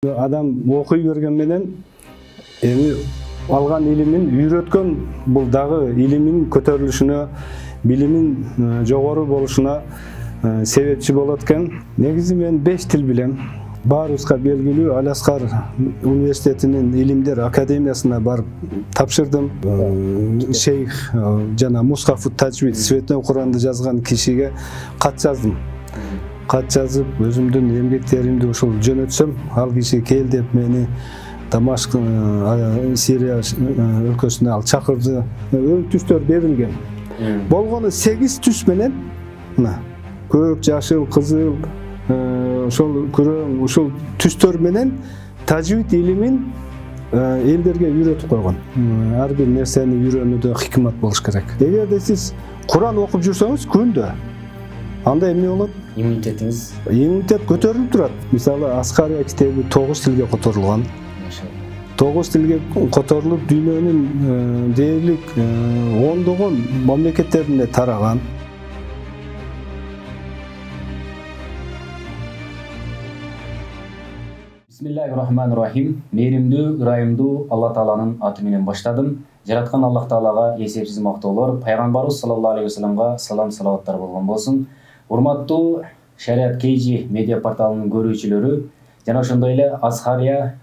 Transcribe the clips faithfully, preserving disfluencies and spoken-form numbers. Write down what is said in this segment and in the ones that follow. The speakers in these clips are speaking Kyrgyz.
Адам окуй берген менен эми алган илимин үйрөткөн бул дагы илимин көтөрүлүшүнө, билимин жогору болушуна себепчи болот экен. Негизи мен беш тил билем. Баарыбызга белгилүү Аль-Аскар университетинин илимдер академиясына барып тапшырдым. Шейх жана Мусхафут Таджвид Святой Куранды жазган кишиге кат жаздым. Кат жазып, өзүмдүн эмгектеримди ушул жөнөтсөм, ал киши кел деп мени Дамашк, Сирия өлкөсүнө ал чакырды. Өң түстөр берилген. Болгону сегиз түс менен, мына, көк, жашыл, кызыл, ошол күрөң, ушул түстөр менен тажвид илимин элдерге үйрөтүп койгон. Ар бир нерсени үйрөнүүдө хикмат болуш керек. Эгерде сиз Куран окуп жүрсөңүз күндө, анда эмне болот? Иммунитетиңиз. Иммунитет көтөрүлүп турат. Мисалы, Аскария китеби тогуз тилге которулган. тогуз тилге которулуп, дүйнөнүн дээрлик ондогон мамлекеттерине тараган. Бисмиллахир-рахманир-рахим. Мээримдүү, ырайымдуу Алла Тааланын аты менен баштадым. Жараткан Аллах Таалага эсепсиз мактоолор, пайгамбарыбыз саллаллаху алейхи вассаламга салам салаваттар болгон болсун. Урматтуу Шариат Кейджи медиа порталынын көрүүчүлөрү жана ошондой эле Азхария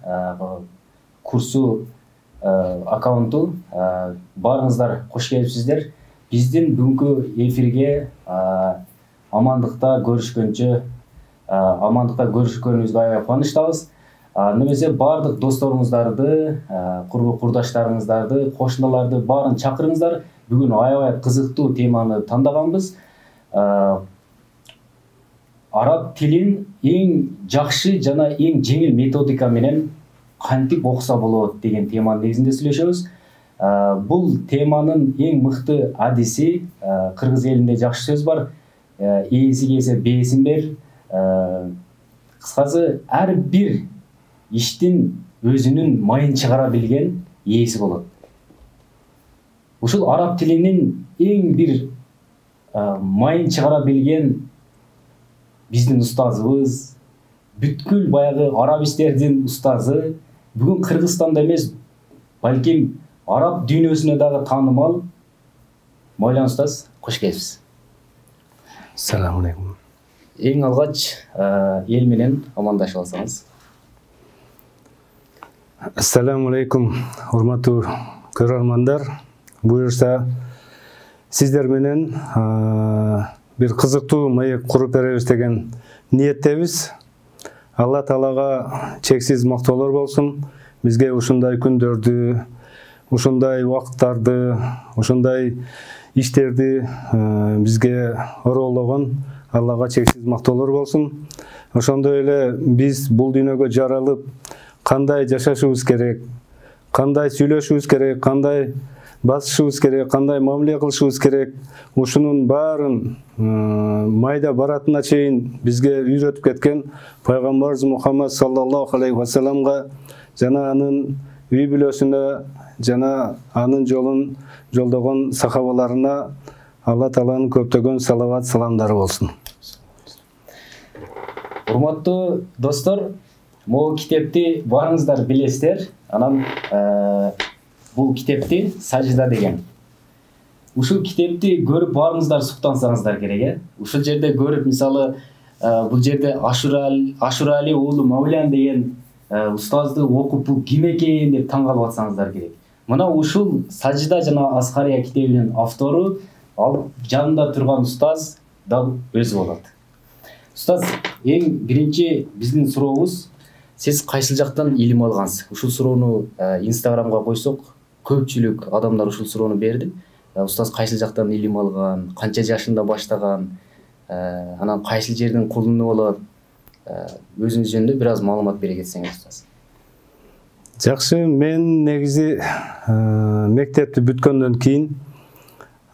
курсу аккаунту баарыңыздар кош келипсиздер. Биздин бүгүнкү эфирге амандыкта көрүшкөнчө амандыкта көрүшкөнүбүзгө аябай кубанычтабыз. Немесе бардык досторуңуздарды, курбу курдаштарыңыздарды, кошуналарды баарын чакырыңыздар. Бүгүн аябай кызыктуу теманы тандаганбыз. Араб тилин эң жакшы жана эң жеңил методика менен кантип окуса болот деген теманын негизинде сүйлөшөбүз. Бул теманын эң мыкты адиси, кыргыз элинде жакшы сөз бар, ээси келсе бээсин бер. Кыскасы, ар бир иштин өзүнүн майын чыгара билген ээси болот. Ушул араб тилинин эң бир майын чыгара билген биздин устазыбыз, бүткүл баягы арабистердин устазы, бүгүн Кыргызстанда эмес, балким араб дүйнөсүнө дагы таанымал Мойлан устаз, кош келипсиз. Ассаламу алейкум. Эң алгач эл менен амандашып алсаңыз. Ассаламу алейкум, урматтуу көрөрмандар. Буюрса, сиздер менен бир кызыктуу маек куруп беребиз деген ниеттебиз. Алла Таалага чексиз мактоолор болсун. Бизге ушундай күндөрдү, ушундай убакыттарды, ушундай иштерди бизге ороологон Аллага чексиз мактоолор болсун. Ошондой эле биз бул дүйнөгө жаралып, кандай жашашыбыз керек, кандай сүйлөшүбүз керек, кандай басышыбыз керек, кандай мамиле кылышыбыз керек, ушунун баарын майда баратына чейин бизге үйрөтүп кеткен пайгамбарыбыз Мухаммад саллаллаху алейхи вассаламга жана анын үй бүлөсүнө жана анын жолун жолдогон сахабаларына Алла Тааланын көптөгөн салават саламдары болсун. Урматтуу достор, могу китепти баарыңыздар билесиздер. Анан бул китепти Сажда деген. Ушул китепти көрүп баарыңыздар суктансаңыздар керек, э? Ушул жерде көрүп, мисалы, бул жерде Ашурали уулу Мавлян деген устазды окуп, бул ким экен деп таң калып атсаңыздар керек. Мына ушул Сажда жана Азхария китебинин автору, ал жанында турган устаз дал өзү болот. Устаз, эң биринчи биздин сурообуз, сиз кайсыл жактан илим алгансыз? Ушул суроону Инстаграмга койсок, көпчүлүк адамдар ушул суроону берди. Устаз кайсыл жактан илим алган, канча жашында баштаган, анан кайсыл жердин кулуну болот? Өзүңүз жөнүндө бир аз маалымат бере кетсеңиз, устаз. Жакшы, мен негизи мектепти бүткөндөн кийин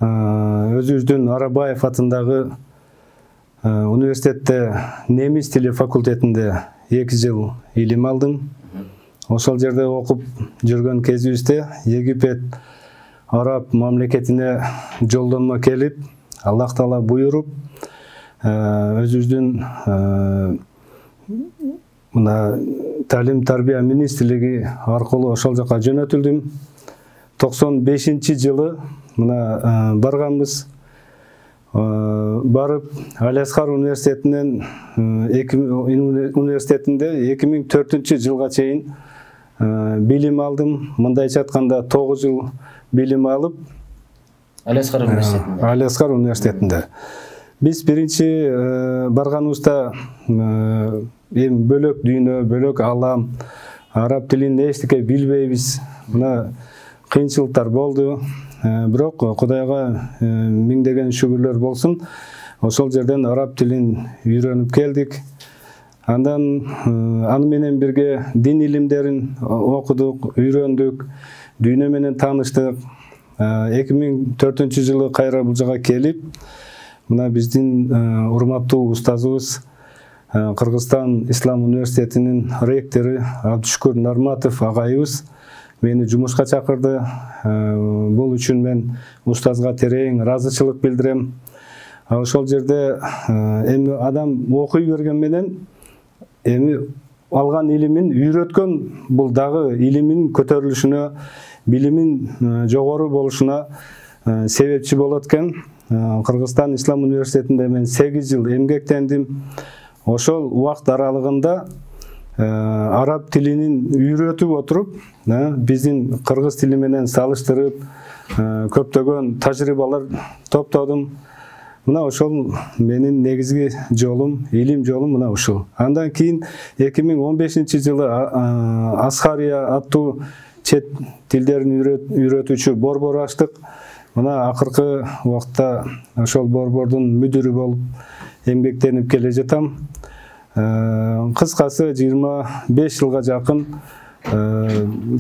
өзүбүздүн Арабаев атындагы университетте немис тили факультетинде эки жыл илим алдым. Ошол жерде окуп жүргөн кезибизде Египет араб мамлекетине жолдонмо келип, Аллах Таала буйруп, өзүбүздүн мына Талим тарбия министрлиги аркылуу ошол жака жөнөтүлдүм. токсон бешинчи жылы мына барганбыз. Барып Алиаскар университетинен университетинде эки миң төртүнчү жылга чейин билим алдым. Мындайча айтканда тогуз жыл билим алып Алиаскар университетинде. Алиаскар университетинде. Биз биринчи барганыбызда эми бөлөк дүйнө, бөлөк алам, араб тилин эчтеке билбейбиз. Мына кыйынчылыктар болду. Бирок Кудайга миңдеген шүгүрлөр болсун. Ошол жерден араб тилин үйрөнүп келдик. Андан аны менен бирге дин илимдерин окудук, үйрөндүк, дүйнө менен тааныштык. эки миң төртүнчү жылы кайра бул жака келип, мына биздин урматтуу устазыбыз Кыргызстан Ислам университетинин ректору Абдушкур Нарматов агайыбыз мени жумушка чакырды. Бул үчүн мен устазга терең ыраазычылык билдирем. Ошол жерде эми адам окуй берген менен эми алган илимин үйрөткөн бул дагы илимин көтөрүлүшүнө, билимин жогору болушуна себепчи болот экен. Кыргызстан Ислам университетинде мен сегиз жыл эмгектендим. Ошол убакыт аралыгында араб тилин үйрөтүп отуруп, биздин кыргыз тили менен салыштырып, көптөгөн тажрыйбалар топтодум. Мына ошол менин негизги жолум, илим жолум мына ушул. Андан кийин эки миң он бешинчи жылы Асхария аттуу чет тилдерин үйрөтүүчү борбор ачтык. Мына акыркы убакытта ошол борбордун мүдүрү болуп эмгектенип келе жатам. Кыскасы жыйырма беш жылга жакын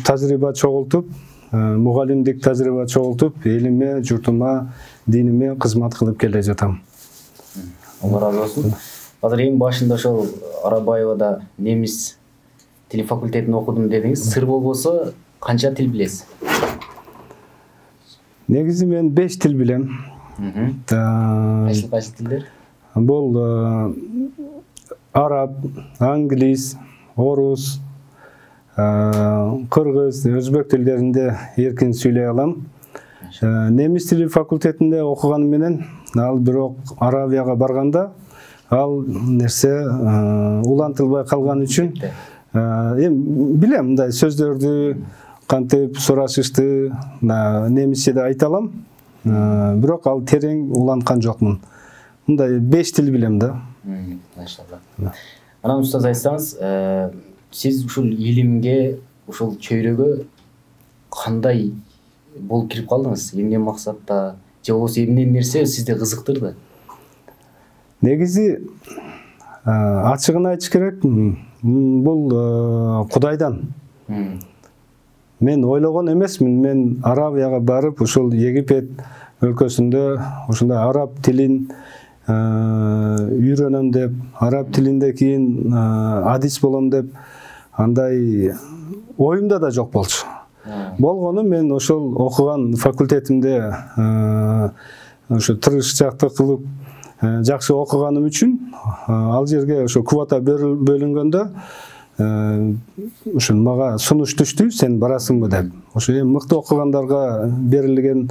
тажрыйба чогултуп, мугалимдик тажрыйба чогултуп, элиме, журтума, диниме кызмат кылып келе жатам. Алла разы болсун. Азыр эң башында ошол Арабаевада немис тил факультетин окудум дедиңиз. Сыр болбосо канча тил билесиз? Негизи мен беш тил билем. Кайсы кайсы тилдер? Бул араб, англис, орус, кыргыз, өзбек тилдеринде эркин сүйлөй алам. Немис тили факультетинде окуган менен, ал бирок Арабияга барганда, ал нерсе улантылбай калган үчүн эми билем, мындай сөздөрдү кантип сурашышты немисчеде айта алам, бирок ал терең уланткан жокмун. Мындай беш тил билем да. Машалла. Анан устаз айтсаңыз, сиз ушул илимге, ушул чөйрөгө кандай болуп кирип калдыңыз? Эмне максатта, же болбосо эмне нерсе сизди кызыктырды? Негизи ачыгын айтыш керек, бул Кудайдан. Мен ойлогон эмесмин, мен Арабияга барып, ушул Египет өлкөсүндө ушундай араб тилин үйрөнөм деп, араб тилинде кийин адис болом деп, андай оюмда да жок болчу. Болгону мен ошол окуган факультетимде ошо тырышчаактык кылып жакшы окуганым үчүн ал жерге ошо квота бөлүнгөндө ушул мага сунуш түштү, сен барасыңбы деп. Ошо эми мыкты окугандарга берилген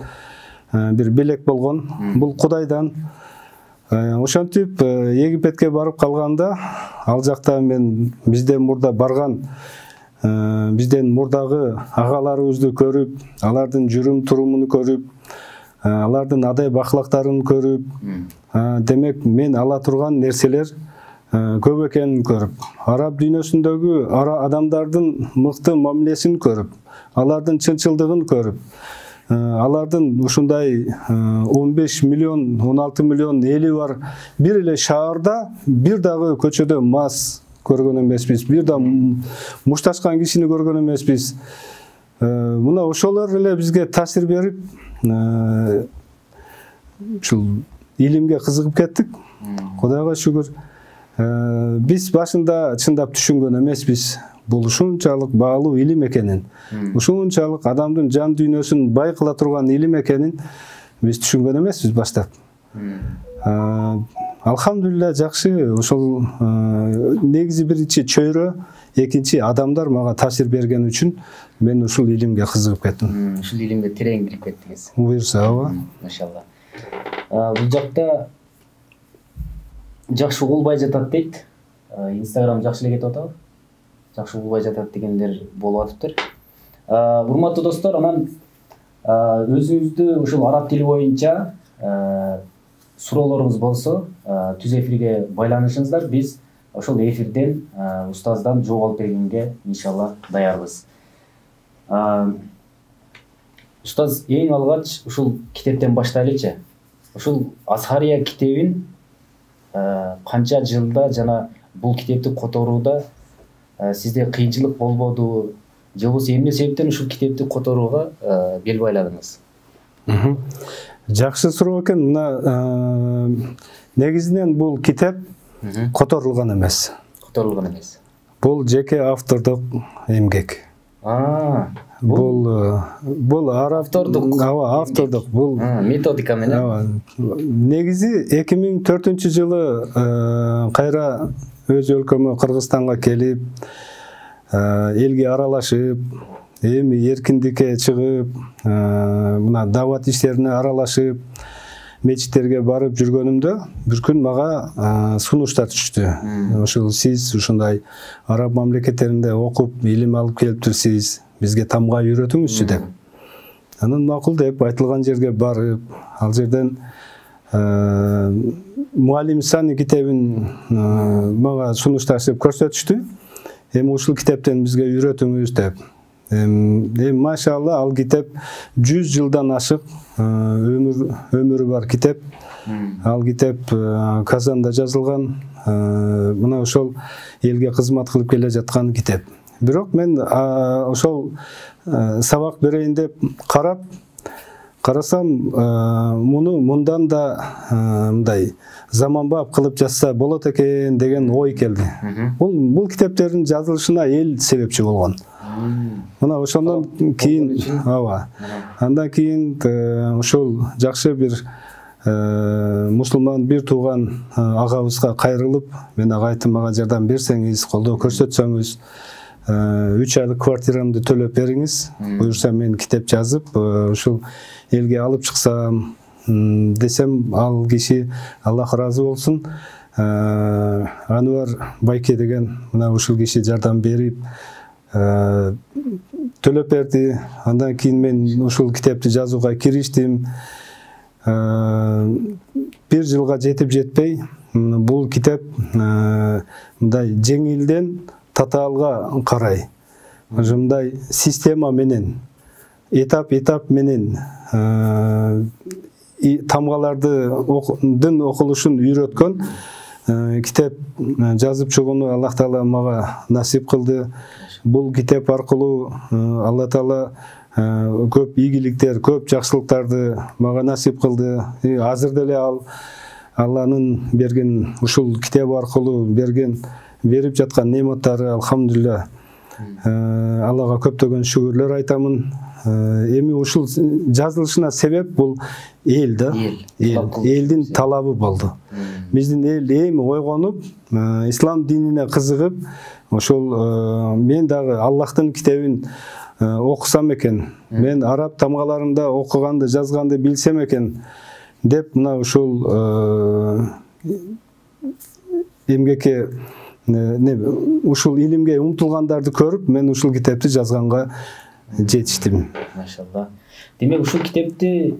бир белек болгон. Бул Кудайдан. Ошентип Египетке барып калганда, ал жакта мен бизден мурда барган, бизден мурдагы агаларыбызды көрүп, алардын жүрүм турумун көрүп, алардын адай бахлактарын көрүп, демек мен ала турган нерселер көп экенин көрүп, араб дүйнөсүндөгү адамдардын мыкты мамилесин көрүп, алардын чынчылдыгын көрүп, алардын ушундай он беш миллион, он алты миллион эли бар бир эле шаарда бир дагы көчөдө мас көргөн эмеспиз, бир да мушташкан кишини көргөн эмеспиз. Мына ошолор эле бизге таасир берип, ушул илимге кызыгып кеттик. Кудайга шүгүр. Биз башында чындап түшүнгөн эмеспиз. Бул ушунчалык баалуу илим экенин, ушунчалык адамдын жан дүйнөсүн бай кыла турган илим экенин биз түшүнгөн эмеспиз баштап. Алхамдулилла жакшы, ошол негизи биринчи чөйрө экинчи адамдар мага таасир берген үчүн мен ушул илимге кызыгып кеттим. Ушул илимге терең кирип кеттиңиз. Буюрса, ооба. Машалла. Бул жакта жакшы угулбай жатат дейт. Инстаграм жакшы эле кетип атабы? Жакшы угулбай жатат дегендер болуп атыптыр. Урматтуу достор, анан өзүңүздү ушул араб тили боюнча суроолоруңуз болсо, түз эфирге байланышыңыздар. Биз ошол эфирден устаздан жооп алып бергенге иншалла даярбыз. Устаз, эң алгач ушул китептен баштайлычы. Ушул Азхария китебин канча жылда жана бул китепти которууда сизде кыйынчылык болбодубу? Же болбосо эмне себептен ушул китепти которууга бел байладыңыз? Жакшы суроо экен. Мына негизинен бул китеп которулган эмес. Которулган эмес. Бул жеке автордук эмгек. Бул бул автордук, ооба, автордук. Бул методика менен. Негизи эки миң төртүнчү жылы кайра өз өлкөмө Кыргызстанга келип, элге аралашып, эми эркиндикке чыгып, мына дават иштерине аралашып, мечиттерге барып жүргөнүмдө бир күн мага сунуштар түштү. Ошол сиз ушундай араб мамлекеттеринде окуп, илим алып келиптирсиз, бизге тамга үйрөтүңүзчү деп. Анан макул деп айтылган жерге барып, ал жерден Муалим Сани китебин мага сунушташып көрсөтүштү. Эми ушул китептен бизге үйрөтүңүз деп. Эми машалла ал китеп жүз жылдан ашык өмүр өмүрү бар китеп. Ал китеп Казанда жазылган. Мына ошол элге кызмат кылып келе жаткан китеп. Бирок мен ошол сабак берейин деп карап карасам, муну мындан да мындай заманбап кылып жазса болот экен деген ой келди. Бул бул китептердин жазылышына эл себепчи болгон. Мына ошондон кийин, ооба. Андан кийин ошол жакшы бир мусулман бир тууган агабызга кайрылып, мен ага айттым, мага жардам берсеңиз, колдоо көрсөтсөңүз, үч айлык квартирамды төлөп бериңиз, буюрса мен китеп жазып, ушул элге алып чыксам десем, ал киши, Аллах ыраазы болсун, Ануар Байке деген мына ушул киши жардам берип төлөп берди. Андан кийин мен ушул китепти жазууга кириштим. Бир жылга жетип жетпей, бул китеп мындай жеңилден татаалга карай, мындай система менен, этап-этап менен тамгалардын окулушун үйрөткөн китеп жазып чыгууну Аллах Таала мага насип кылды. Бул китеп аркылуу Алла Таала көп ийгиликтер, көп жакшылыктарды мага насип кылды. Азыр деле ал Алланын берген ушул китеп аркылуу берген берип жаткан нематтары, алхамдулилля, Аллага көптөгөн шүгүрлөр айтамын. Эми ушул жазылышына себеп бул эл да, эл, элдин талабы болду. Биздин эл эми ойгонуп, ислам динине кызыгып, ошол мен дагы Аллахтын китебин окусам экен, мен араб тамгаларында окуганды, жазганды билсем экен деп, мына ушул эмгекке, ушул илимге умтулгандарды көрүп, мен ушул китепти жазганга жетиштим. Машалла. Демек ушул китепти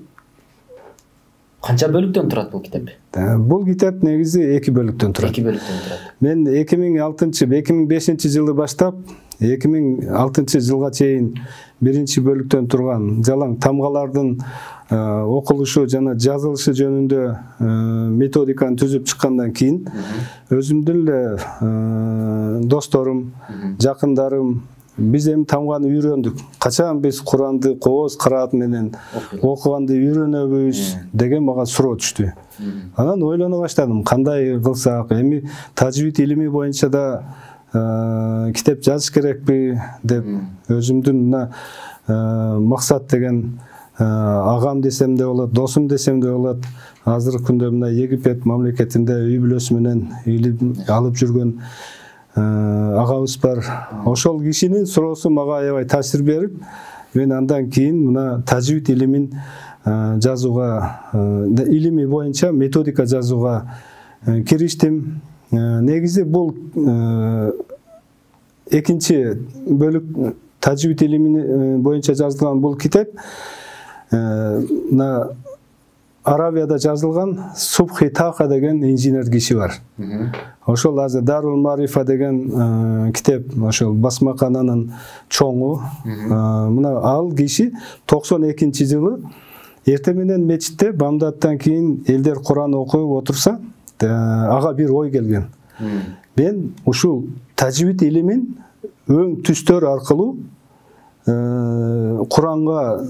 канча бөлүктөн турат бул китеп? Бул китеп негизи эки бөлүктөн турат. эки бөлүктөн турат. Мен эки миң алтынчы, эки миң бешинчи жылы баштап, эки миң алтынчы жылга чейин биринчи бөлүктөн турган жалаң тамгалардын окулушу жана жазылышы жөнүндө методиканы түзүп чыккандан кийин өзүмдүн эле досторум, жакындарым, биз эми тамганы үйрөндүк. Качан биз Куранды кооз кыраат менен окуганды үйрөнөбүз деген мага суроо түштү. Анан ойлоно баштадым, кандай кылсак, эми тажвид илими боюнча да китеп жазыш керекпи деп өзүмдүн мына максат деген агам десем де болот, досум десем де болот. Азыркы күндө мына Египет мамлекетинде үй бүлөсү менен илим алып жүргөн агабыз бар. Ошол кишинин суроосу мага аябай таасир берип, мен андан кийин мына тажвид илимин жазууга, илими боюнча методика жазууга кириштим. Негизи бул экинчи бөлүк тажвид илими боюнча жазылган бул китеп мына Арабияда жазылган Субхи Таха деген инженер киши бар. Ошол азыр Дарул Марифа деген китеп, ошол басмакананын чоңу. Мына ал киши токсон экинчи жылы эртең менен мечитте бамдаттан кийин элдер Куран окуп отурса, ага бир ой келген. Мен ушул тажвид илимин өң түстөр аркылуу Куранга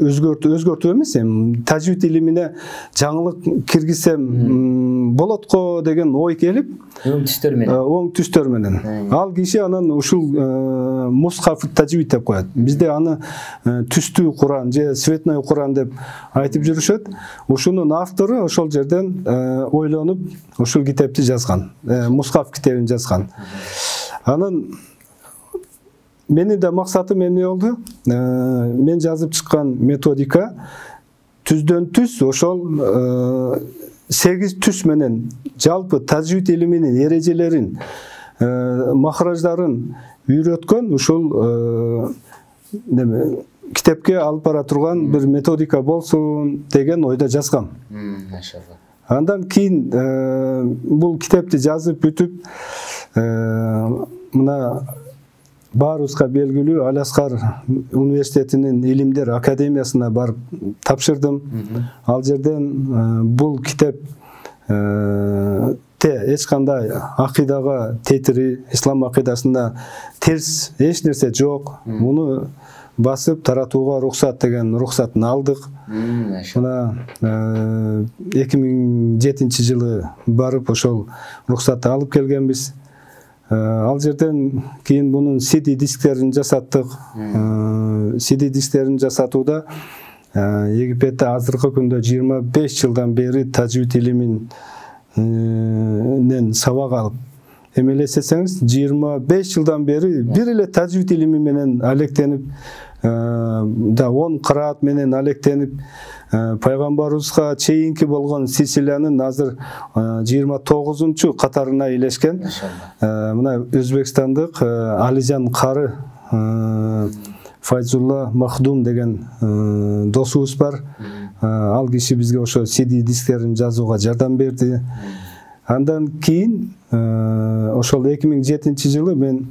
өзгөртүп өзгөртүп эмес, эми тажвид илимине жаңылык киргизсем болот го деген ой келип, өң түстөр менен. Өң түстөр менен. Ал киши анан ушул мусхаф тажвид деп коет. Бизде аны түстүү Куран же цветной Куран деп айтып жүрүшөт. Ушунун автору ошол жерден ойлонуп ушул китепти жазган. Мусхаф китебин жазган. Анан менин да максатым эмне болду? Мен жазып чыккан методика түздөн түз ошол сегиз түз менен жалпы тажвид илиминин эрежелерин, махраждарын үйрөткөн ушул китепке алып бара турган бир методика болсун деген ойдо жазгам. Машалла. Андан кийин бул китепти жазып бүтүп, мына баарыбызга белгилүү Аляскар университетинин илимдер академиясына барып тапшырдым. Ал жерден бул китеп те эч кандай акыйдага тетири, ислам акыйдасында терс эч нерсе жок. Муну басып таратууга рухсат деген рухсатын алдык. Мына эки миң жетинчи жылы барып ошол рухсатты алып келгенбиз. Ал жерден кийин бунун си ди дисктерин жасаттык. си ди дисктерин жасатууда Египетте азыркы күндө жыйырма беш жылдан бери тажвид илиминен сабак алып, эмелесеңиз жыйырма беш жылдан бери бир эле тажвид илими менен алектенип, да он кыраат менен алектенип, пайгамбарыбызга чейинки болгон силсилянын азыр жыйырма тогузунчу катарына илешкен. Мына Өзбекстандык Алижан кары Файзулла Махдум деген досубуз бар. Ал киши бизге ошо си ди дисктерин жазууга жардам берди. Андан кийин ошол эки миң жетинчи жылы мен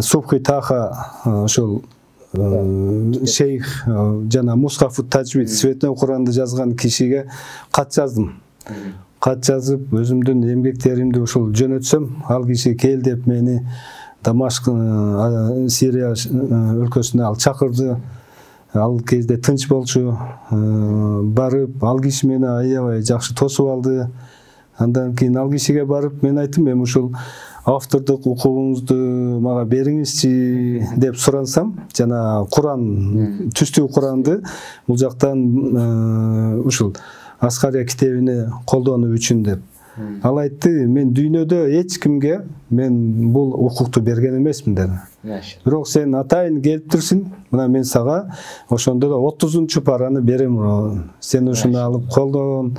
Субхи Таха ошол шейх жана Мусхаф тажвид цветной Куранды жазган кишиге кат жаздым. Кат жазып өзүмдүн эмгектеримди ушул жөнөтсөм, ал киши кел деп мени Дамашк, Сирия өлкөсүнө ал чакырды. Ал кезде тынч болчу. Барып, ал киши мени аябай жакшы тосуп алды. Андан кийин ал кишиге барып мен айттым, мен ушул автордук укугуңузду мага бериңизчи деп сурансам, жана Куран, түстүү Куранды бул жактан ушул Аскария китебине колдонуу үчүн деп. Ал айтты, мен дүйнөдө эч кимге мен бул укукту берген эмесмин деди. Бирок сен атайын келип турсуң, мына мен сага ошондо да отузунчу параны берем, сен ушуну алып колдон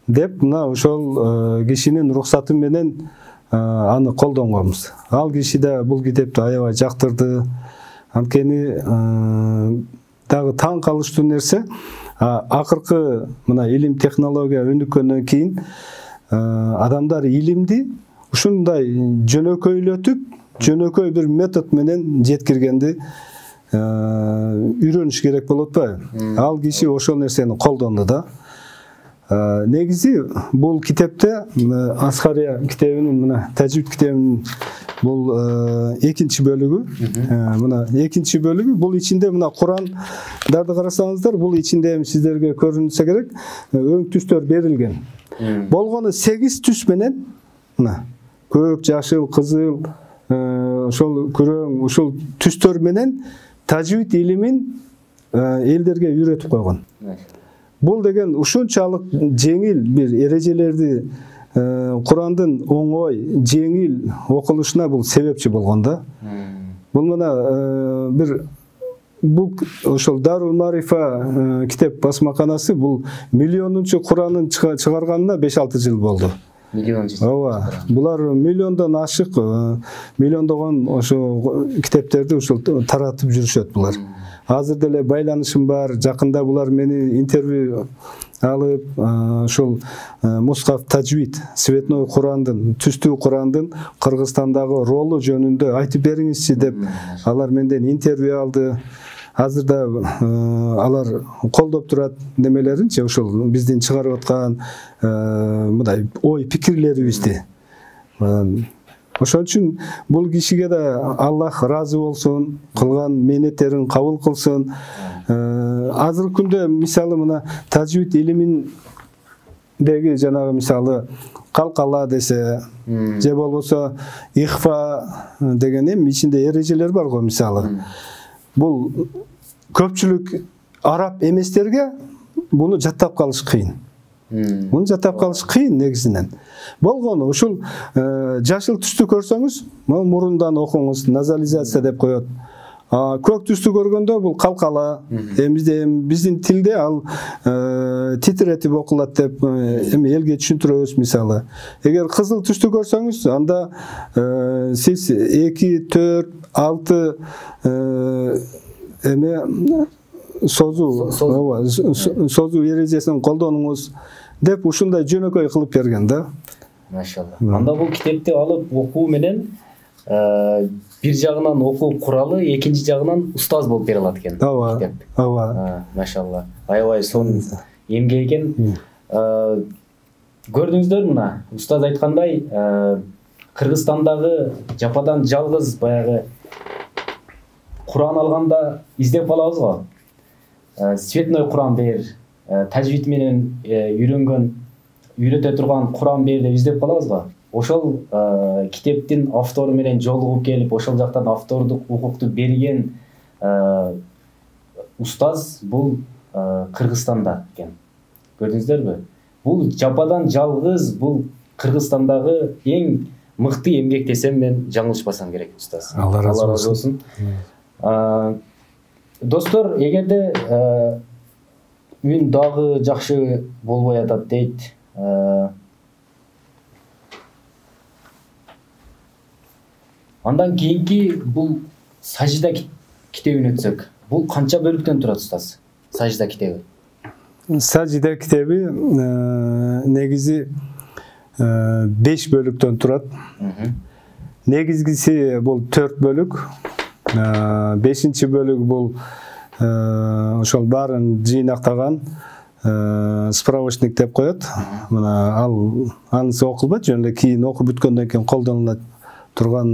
деп, мына ошол кишинин рухсаты менен аны колдонгонбуз. Ал киши да бул китепти аябай жактырды. Анткени дагы таң калыштуу нерсе, акыркы мына илим технология өнүккөндөн кийин адамдар илимди ушундай жөнөкөйлөтүп, жөнөкөй бир метод менен жеткиргенди үйрөнүш керек болот атпайбы? Ал киши ошол нерсени колдонду да. Негизи бул китепте Аскария китебинин, мына тажвид китебинин бул экинчи бөлүгү. Мына экинчи бөлүгү, бул ичинде мына Курандарды карасаңыздар, бул ичинде сиздерге көрүнсө керек, өң түстөр берилген. Болгону сегиз түс менен, мына көк, жашыл, кызыл, ошол күрөң, ушул түстөр менен тажвид илимин элдерге үйрөтүп койгон. Бул деген ушунчалык жеңил бир эрежелерди Курандын оңой, жеңил окулушуна бул себепчи болгон да. Бул мына бир бул ошол Дарул Марифа китеп басмаканасы бул миллионунчу Куранын чыгарганына беш алты жыл болду. Миллион жыл. Ооба. Булар миллиондон ашык, миллиондогон ошо китептерди ошол таратып жүрүшөт булар. Азыр деле байланышым бар. Жакында булар мени интервью алып, ошол Мусхаф Таджвид, Светной Курандын, түстүү Курандын Кыргызстандагы ролу жөнүндө айтып бериңизчи деп алар менден интервью алды. Азырда алар колдоп турат немелеринчи, ошол биздин чыгарып аткан мындай ой пикирлерибизди. Ошон үчүн бул кишиге да Аллах разы болсун, кылган менеттерин кабыл кылсын. Азыркы күндө мисалы мына тажвид илиминдеги жанагы мисалы калкала десе, же болбосо ихфа деген эми ичинде эрежелер бар го мисалы. Бул көпчүлүк араб эместерге буну жаттап калыш кыйын. Муну жаттап калыш кыйын негизинен. Болгону ушул жашыл түстү көрсөңүз, мурундан окуңуз, назализация деп коет. Көк түстү көргөндө бул калкала, эми биздин тилде ал титретип окулат деп эми элге түшүндүрөбүз мисалы. Эгер кызыл түстү көрсөңүз, анда сиз эки, төрт, алты эме созуу созуу эрежесин колдонуңуз деп ушундай жөнөкөй кылып берген да. Машалла. Анда бул китепти алып окуу менен бир жагынан окуу куралы, экинчи жагынан устаз болуп бере алат экен китеп. Ооба. Машалла. Аябай сонун эмгек экен. Көрдүңүздөр мына, устаз айткандай, Кыргызстандагы жападан жалгыз баягы Куран алганда издеп калабыз го. Светной Куран бер, тажвид менен үйрөнгөн, үйрөтө турган Куран бер деп издеп калабыз го. Ошол китептин автору менен жолугуп келип, ошол жактан автордук укукту берген устаз бул Кыргызстанда экен. Көрдүңүздөрбү? Бул жападан жалгыз, бул Кыргызстандагы эң мыкты эмгек десем мен жаңылышпасам керек, устаз. Алла разы болсун. Достор, эгерде үн дагы жакшы болбой атат дейт, андан кийинки бул сажда китебин өтсөк, бул канча бөлүктөн турат, устаз? Сажда китеби. Сажда китеби негизи беш бөлүктөн турат. Негизгиси бул төрт бөлүк. Бешинчи бөлүк бул ошол баарын жыйнактаган справочник деп коет. Мына ал анысы окулбайт, жөн эле кийин окуп бүткөндөн кийин колдонулат турган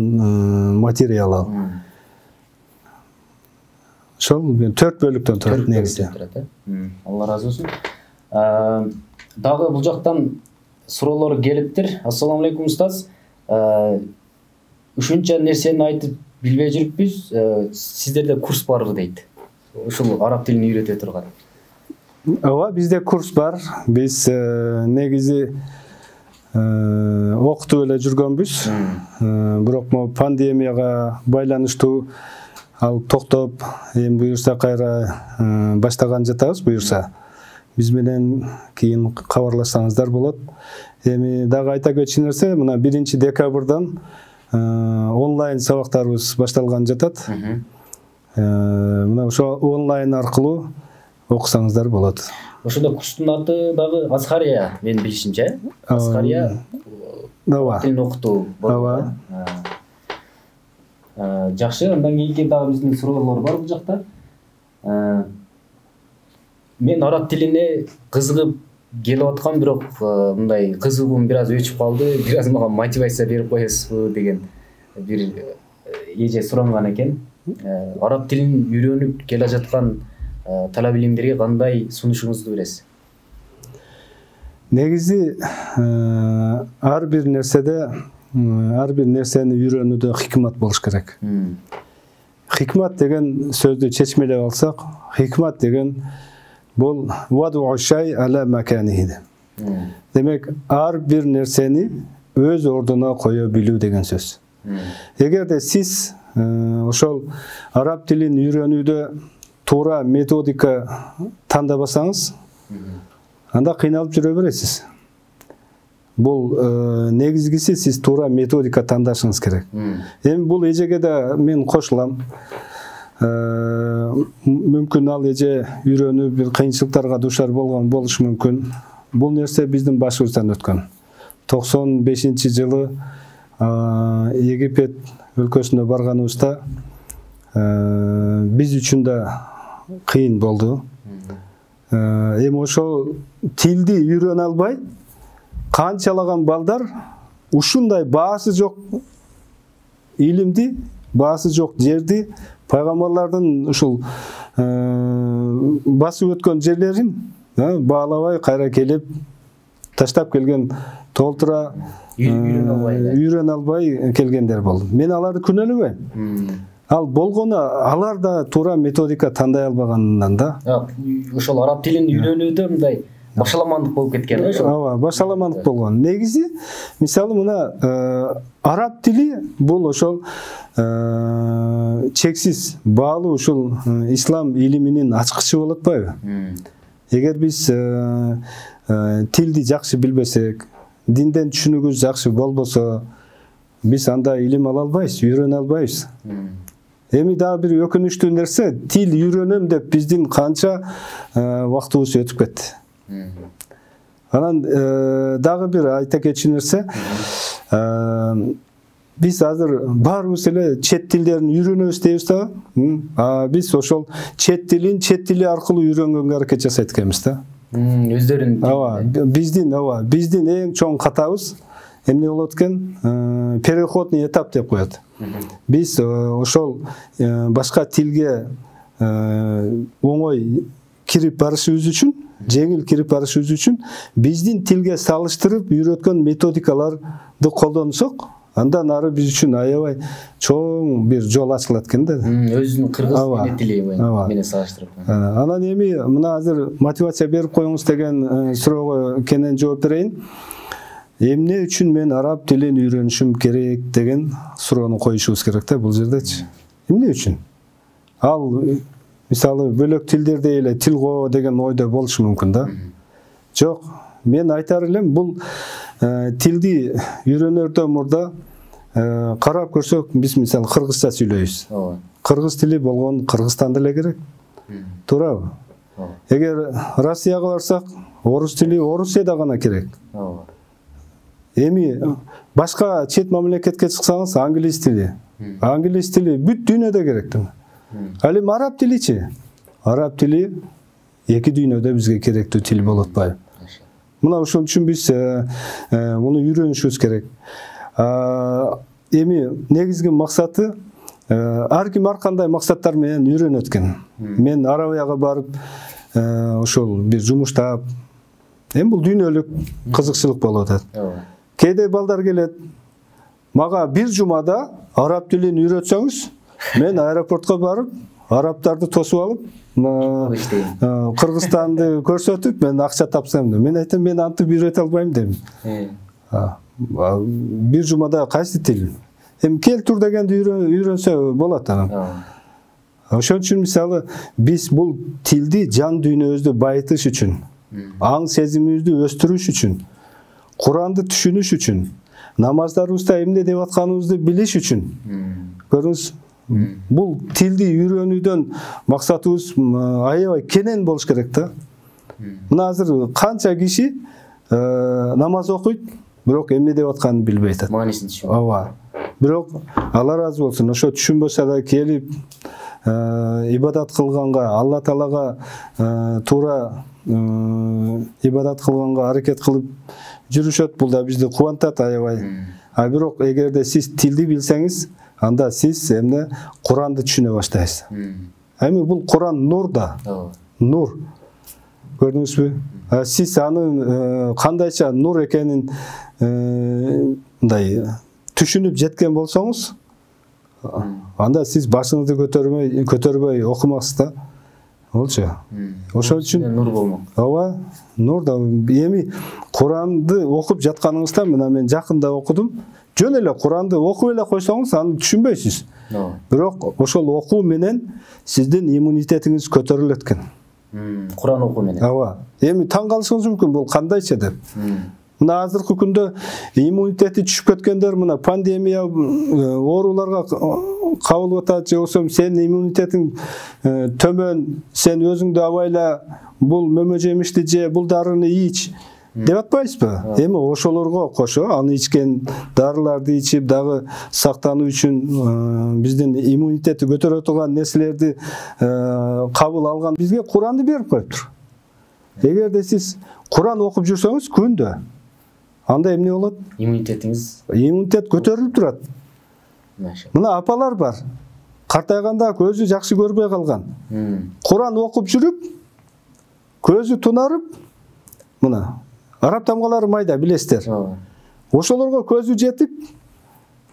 материал ал. Ошол төрт бөлүктөн турат негизи. Алла разы болсун. Дагы бул жактан суроолор келиптир. Ассаламу алейкум, устаз. Ушунча нерсени айтып билбей жүрүппүз. Сиздерде курс барбы дейт. Ушул араб тилин үйрөтө турган. Ооба, бизде курс бар. Биз негизи окутуп эле жүргөнбүз. Бирок могу пандемияга байланыштуу ал токтоп, эми буюрса кайра баштаган жатабыз буюрса. Биз менен кийин кабарлашсаңыздар болот. Эми дагы айта кетчү нерсе, мына биринчи декабрдан онлайн сабактарыбыз башталган жатат. Мына ошо онлайн аркылуу окусаңыздар болот. Ошондо курстун аты дагы Азхария, менин билишимче. Азхария. Ооба. Тилин окутуу болот. Жакшы, андан кийинки дагы биздин суроолор бар бул жакта. Мен араб тилине кызыгып келип аткам, бирок мындай кызыгуум бир аз өчүп калды. Бир аз мага мотивация берип коесузбу деген бир эже суранган экен. Араб тилин үйрөнүп келе жаткан талап илимдерге кандай сунушуңузду бересиз? Негизи ар бир нерседе, ар бир нерсени үйрөнүүдө хикмат болуш керек. Хикмат деген сөздү чечмелеп алсак, хикмат деген бул ваду шай ала маканихи. Демек ар бир нерсени өз ордуна кое билүү деген сөз. Эгерде сиз ошол араб тилин үйрөнүүдө туура методика тандабасаңыз, анда кыйналып жүрө бересиз. Бул негизгиси сиз туура методика тандашыңыз керек. Эми бул эжеге да мен кошулам. Мүмкүн ал эже үйрөнүп бир кыйынчылыктарга дуушар болгон болушу мүмкүн. Бул нерсе биздин башыбыздан өткөн. токсон бешинчи жылы Египет өлкөсүнө барганыбызда биз үчүн да кыйын болду. Эми ошол тилди үйрөнө албай канчалаган балдар ушундай баасы жок илимди, баасы жок жерди, пайгамбарлардын ушул басып өткөн жерлерин баалабай кайра келип таштап келген, толтура үйрөнө албай келгендер болду. Мен аларды күнөөлөбөйм. Ал болгону алар да туура методика тандай албаганынан да. Ошол араб тилин үйрөнүүдө мындай башаламандык болуп кеткен ошо. Ооба, башаламандык болгон. Негизи, мисалы мына араб тили бул ошол чексиз баалуу ушул ислам илиминин ачкычы болуп атпайбы? Эгер биз тилди жакшы билбесек, динден түшүнүгүбүз жакшы болбосо, биз анда илим ала албайбыз, үйрөнө албайбыз. Эми дагы бир өкүнүчтүү нерсе, тил үйрөнөм деп биздин канча убактыбыз өтүп кетти. Анан дагы бир айта кетчү нерсе, биз азыр баарыбыз эле чет тилдерин үйрөнөбүз дейбиз да. Биз ошол чет тилин чет тили аркылуу үйрөнгөнгө аракет жасайт экенбиз да. Өздөрүн. Ооба, биздин, ооба, биздин эң чоң катабыз эмне болот экен? Переходный этап деп коет. Биз ошол башка тилге оңой кирип барышыбыз үчүн, жеңил кирип барышыбыз үчүн биздин тилге салыштырып үйрөткөн методикаларды колдонсок, андан ары биз үчүн аябай чоң бир жол ачылат экен да. Өзүнүн кыргыз тили менен салыштырып. Анан эми мына азыр мотивация берип коюңуз деген суроого кенен жооп берейин. Эмне үчүн мен араб тилин үйрөнүшүм керек деген суроону коюшубуз керек да бул жердечи. Эмне үчүн? Ал мисалы бөлөк тилдерде эле тил коо деген ойдо болушу мүмкүн да. Жок, мен айтар элем, бул тилди үйрөнөрдөн мурда карап көрсөк, биз мисалы кыргызча сүйлөйбүз. Кыргыз тили болгон Кыргызстанда эле керек. Туурабы? Эгер Россияга барсак, орус тили Орусияда гана керек. Эми башка чет мамлекетке чыксаңыз, англис тили. Англис тили бүт дүйнөдө керек. Ал эми араб тиличи? Араб тили эки дүйнөдө бизге керектүү тил болуп атпайбы? Мына ошон үчүн биз муну үйрөнүшүбүз керек. Эми негизги максаты, ар ким ар кандай максаттар менен үйрөнөт экен. Мен Арабияга барып, ошол бир жумуштап, эми бул дүйнөлүк кызыкчылык болуп атат. Кээде балдар келет, мага бир жумада араб тилин үйрөтсөңүз, мен аэропортко барып, арабтарды тосуп алып, Кыргызстанды көрсөтүп, мен акча тапсам деп. Мен айтам, мен антип үйрөтө албайм дейм. Бир жумада кайсы тил? Эми кел тур дегенди үйрөнсө болот анан. Ошон үчүн мисалы биз бул тилди жан дүйнөбүздү байытыш үчүн, аң сезимибизди өстүрүш үчүн, Куранды түшүнүш үчүн, намаздарыбызда эмне деп атканыбызды билиш үчүн. Көрүңүз, бул тилди үйрөнүүдөн максатыбыз аябай кенен болуш керек да. Мына азыр канча киши намаз окуйт, бирок эмне деп атканын билбей атат. Маанисин түшүнбөйт. Ооба. Бирок Алла разы болсун, ошо түшүнбөсө да келип ибадат кылганга, Алла Таалага туура ибадат кылганга аракет кылып жүрүшөт. Бул да бизди кубантат аябай. А бирок эгерде сиз тилди билсеңиз, анда сиз эмне Куранды түшүнө баштайсыз. Эми бул Куран нур да. Нур. Көрдүңүзбү? Сиз анын кандайча нур экенин мындай түшүнүп жеткен болсоңуз, анда сиз башыңызды көтөрбөй көтөрбөй окумаксыз да. болчу. Ошол үчүн нур болмок. Ооба, нур да эми Куранды окуп жатканыңызда мына мен жакында окудум. Жөн эле Куранды окуп эле койсоңуз аны түшүнбөйсүз. Бирок ошол окуу менен сиздин иммунитетиңиз көтөрүлөт экен. Куран окуу менен. Ооба. Эми таң калышыңыз мүмкүн, бул кандайча деп. Мына азыркы күндө иммунитети түшүп кеткендер мына пандемия ооруларга кабылып атат, же болбосо сенин иммунитетиң төмөн, сен өзүңдү абайла бул мөмө жемишти же бул дарыны ич деп атпайсызбы? Эми ошолорго кошо аны ичкен дарыларды ичип дагы сактануу үчүн биздин иммунитетти көтөрө турган нерселерди кабыл алган бизге Куранды берип коюптур. Эгерде сиз Куран окуп жүрсөңүз күндө, анда эмне болот? Иммунитетиңиз иммунитет көтөрүлүп турат. Мына апалар бар. Картайганда көзү жакшы көрбөй калган. Куран окуп жүрүп, көзү тунарып, мына араб тамгалары майда билесиздер. Ошолорго көзү жетип,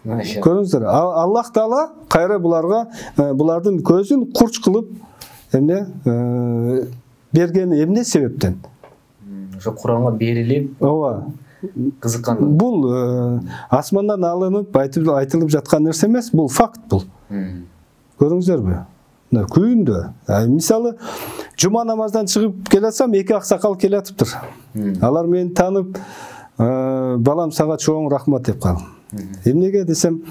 көрүңүздөр, Аллах Таала кайра буларга булардын көзүн курч кылып эмне бергени эмне себептен? Ошо Куранга берилип, ооба, кызыккан. Бул асмандан алынып айтылып жаткан нерсе эмес, бул факт бул. Көрүңүздөрбү? Күндө. Мисалы, жума намаздан чыгып келатсам, эки аксакал келатыптыр. Алар мени танып, балам сага чоң рахмат деп калдым. Эмнеге десем,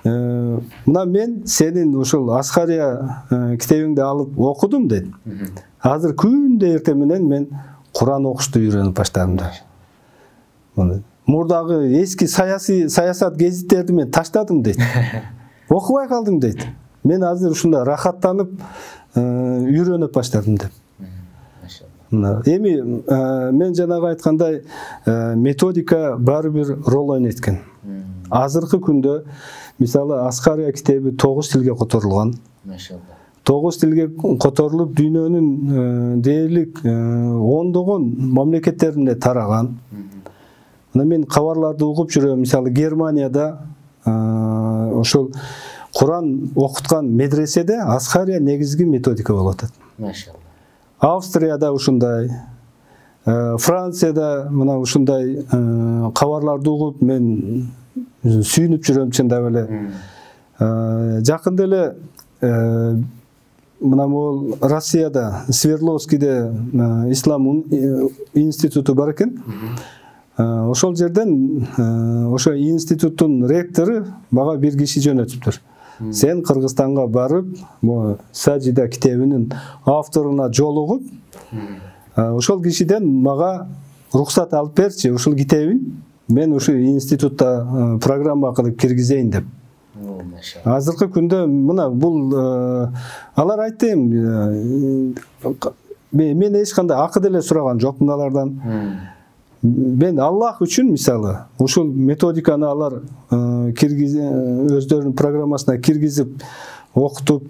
мына мен сенин ушул Асхария китебиңди алып окудум дейт. Азыр күндө эртең менен мен Куран окушту үйрөнүп баштадым да. Мурдагы эски саясий саясат гезиттерди мен таштадым дейт. Окубай калдым дейт. Мен азыр ушунда рахаттанып үйрөнүп баштадым деп. Эми мен жанагы айткандай методика баары бир рол ойнойт экен. Азыркы күндө мисалы Асхария китеби тогуз тилге которулган. Машалла. Тогуз тилге которулуп дүйнөнүн дээрлик ондогон мамлекеттерине тараган. Мына мен кабарларды угуп жүрөм, мисалы Германияда ошол Куран окуткан медреседе Асхария негизги методика болуп атат. Машалла. Австрияда ушундай, Францияда мына ушундай кабарларды угуп мен сүйүнүп жүрөм чындап эле. Жакында эле мына могул Россияда Свердловскийде ислам институту бар экен. Ошол жерден ошо институттун ректору мага бир киши жөнөтүптүр. Сен Кыргызстанга барып, Сажида китебинин авторуна жолугуп, ошол кишиден мага рухсат алып берчи, ушул китебин мен ушу институтта программа кылып киргизейин деп. Азыркы күндө мына бул алар айтты, мен эч кандай акы деле сураган жокмун алардан. Мен Аллах үчүн мисалы ушул методиканы алар өздөрүнүн программасына киргизип окутуп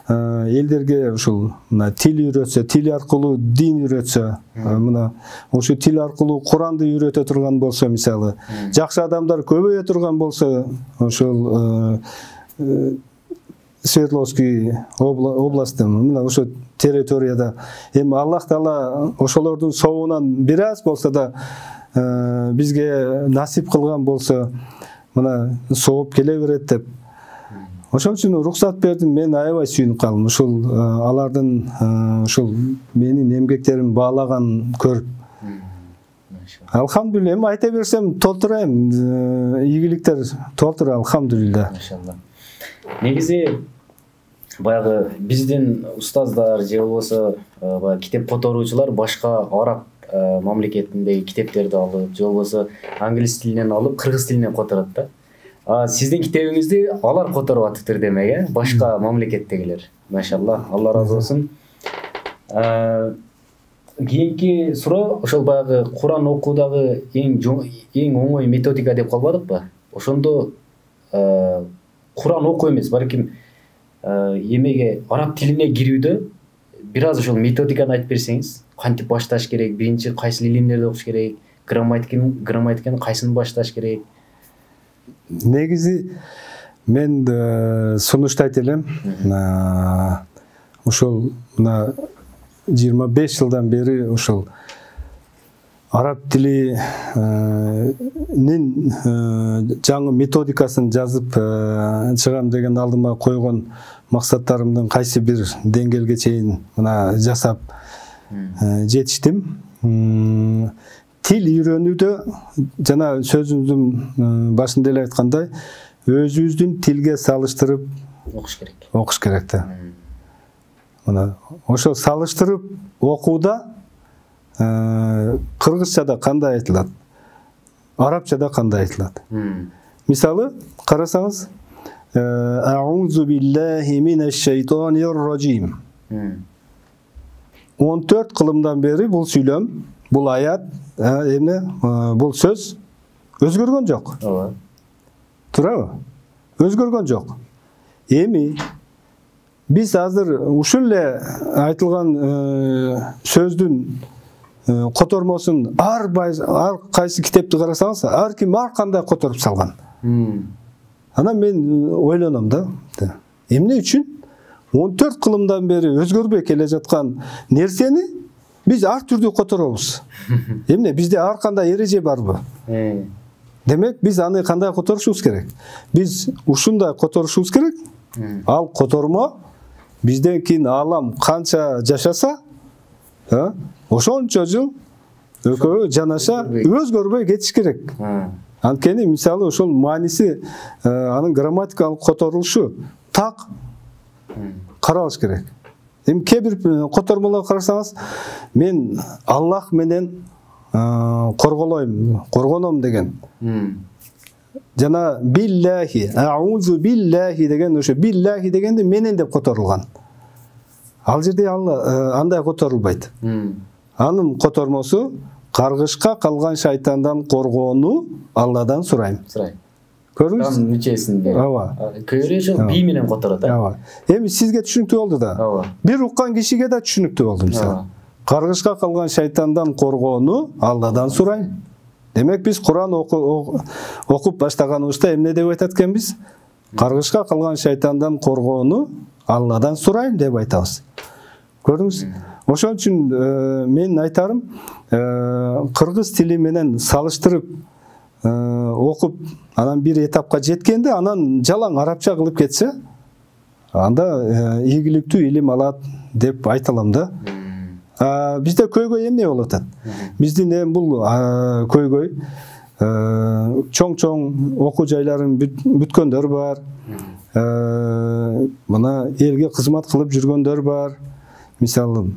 элдерге ушул тил үйрөтсө, тил аркылуу дин үйрөтсө, мына ошо тил аркылуу Куранды үйрөтө турган болсо, мисалы жакшы адамдар көбөйө турган болсо, ошол Свердловский областы мына ошо территорияда эми Аллах Таала ошолордун соогунан бир аз болсо да бизге насип кылган болсо, мына сооп келе берет деп. Ошон үчүн рухсат бердим, мен аябай сүйүнүп калдым. Ушул алардын ушул менин эмгектеримди баалаган көрүп. Алхамдулилла, эми айта берсем толтурайм, ийгиликтер толтур, алхамдулилла. Машалла. Негизи баягы биздин устаздар же болбосо китеп которуучулар башка араб мамлекетиндеги китептерди алып, же болбосо англис тилинен алып, кыргыз тилине которот да. А сиздин китебиңизди алар которуп атыптыр демек, э? Башка мамлекеттегилер. Машалла, Алла разы болсун. Кийинки суроо, ошол баягы Куран окуудагы эң эң оңой методика деп калбадыкпы? Ошондо Куран окуу эмес, балким эмеге араб тилине кирүүдө бир аз ошол методиканы айтып берсеңиз, кантип башташ керек, биринчи кайсы илимдерди окуш керек, грамматиканы грамматиканы кайсыны башташ керек? Негизи мен сунуштайт элем, ошол мына жыйырма беш жылдан бери ошол араб тилинин жаңы методикасын жазып чыгам деген алдыма койгон максаттарымдын кайсы бир деңгээлге чейин мына жасап жетиштим. Тил үйрөнүүдө жана сөзүмдүн башында эле айткандай өзүбүздүн тилге салыштырып окуш керек. Окуш керек да. Мына ошо салыштырып окууда кыргызчада кандай айтылат, арабчада кандай айтылат. Мисалы карасаңыз, аузу биллахи минеш шейтонир раджим. он төрт кылымдан бери бул сүйлөм, бул аят, эмне, бул сөз өзгөргөн жок. Ооба. Туурабы? Өзгөргөн жок. Эми биз азыр ушул эле айтылган сөздүн котормосун ар ар кайсы китепти карасаңыз, ар ким ар кандай которуп салган. Анан мен ойлоном да, эмне үчүн он төрт кылымдан бери өзгөрбөй келе жаткан нерсени биз ар түрдүү которобуз. Эмне бизде ар кандай эреже барбы? Демек биз аны кандай которушубуз керек? Биз ушундай которушубуз керек. Ал котормо бизден кийин алам канча жашаса, ошончо жыл экөө жанаша өзгөрбөй кетиш керек. Анткени мисалы ошол мааниси, анын грамматикалык которулушу так каралыш керек. Эми кээ бир котормолорго карасаңыз, мен Аллах менен корголойм, коргоном деген. Жана биллахи, аузу биллахи деген, ошо биллахи дегенде менен деп которулган. Ал жерде андай которулбайт. Анын котормосу каргышка калган шайтандан коргоону Алладан сурайм. Сурайм. Көрдүңүз? Там мүчөсүндө. Ооба. Көөрөшү би менен которот, а? Ооба. Эми сизге түшүнүктүү болду да. Ооба. Бир уккан кишиге да түшүнүктүү болду мисалы. Каргышка калган шайтандан коргоону Алладан сурайм. Демек биз Куран окуп баштаганыбызда эмне деп айтат экенбиз? Каргышка калган шайтандан коргоону Алладан сурайм деп айтабыз. Көрдүңүз? Ошон үчүн мен айтарым, кыргыз тили менен салыштырып окуп, анан бир этапка жеткенде, анан жалаң арабча кылып кетсе, анда ийгиликтүү илим алат деп айта алам да. Бизде көйгөй эмне болуп атат? Биздин эми бул көйгөй чоң-чоң окуу жайларын бүткөндөр бар. Мына элге кызмат кылып жүргөндөр бар. Мисалы,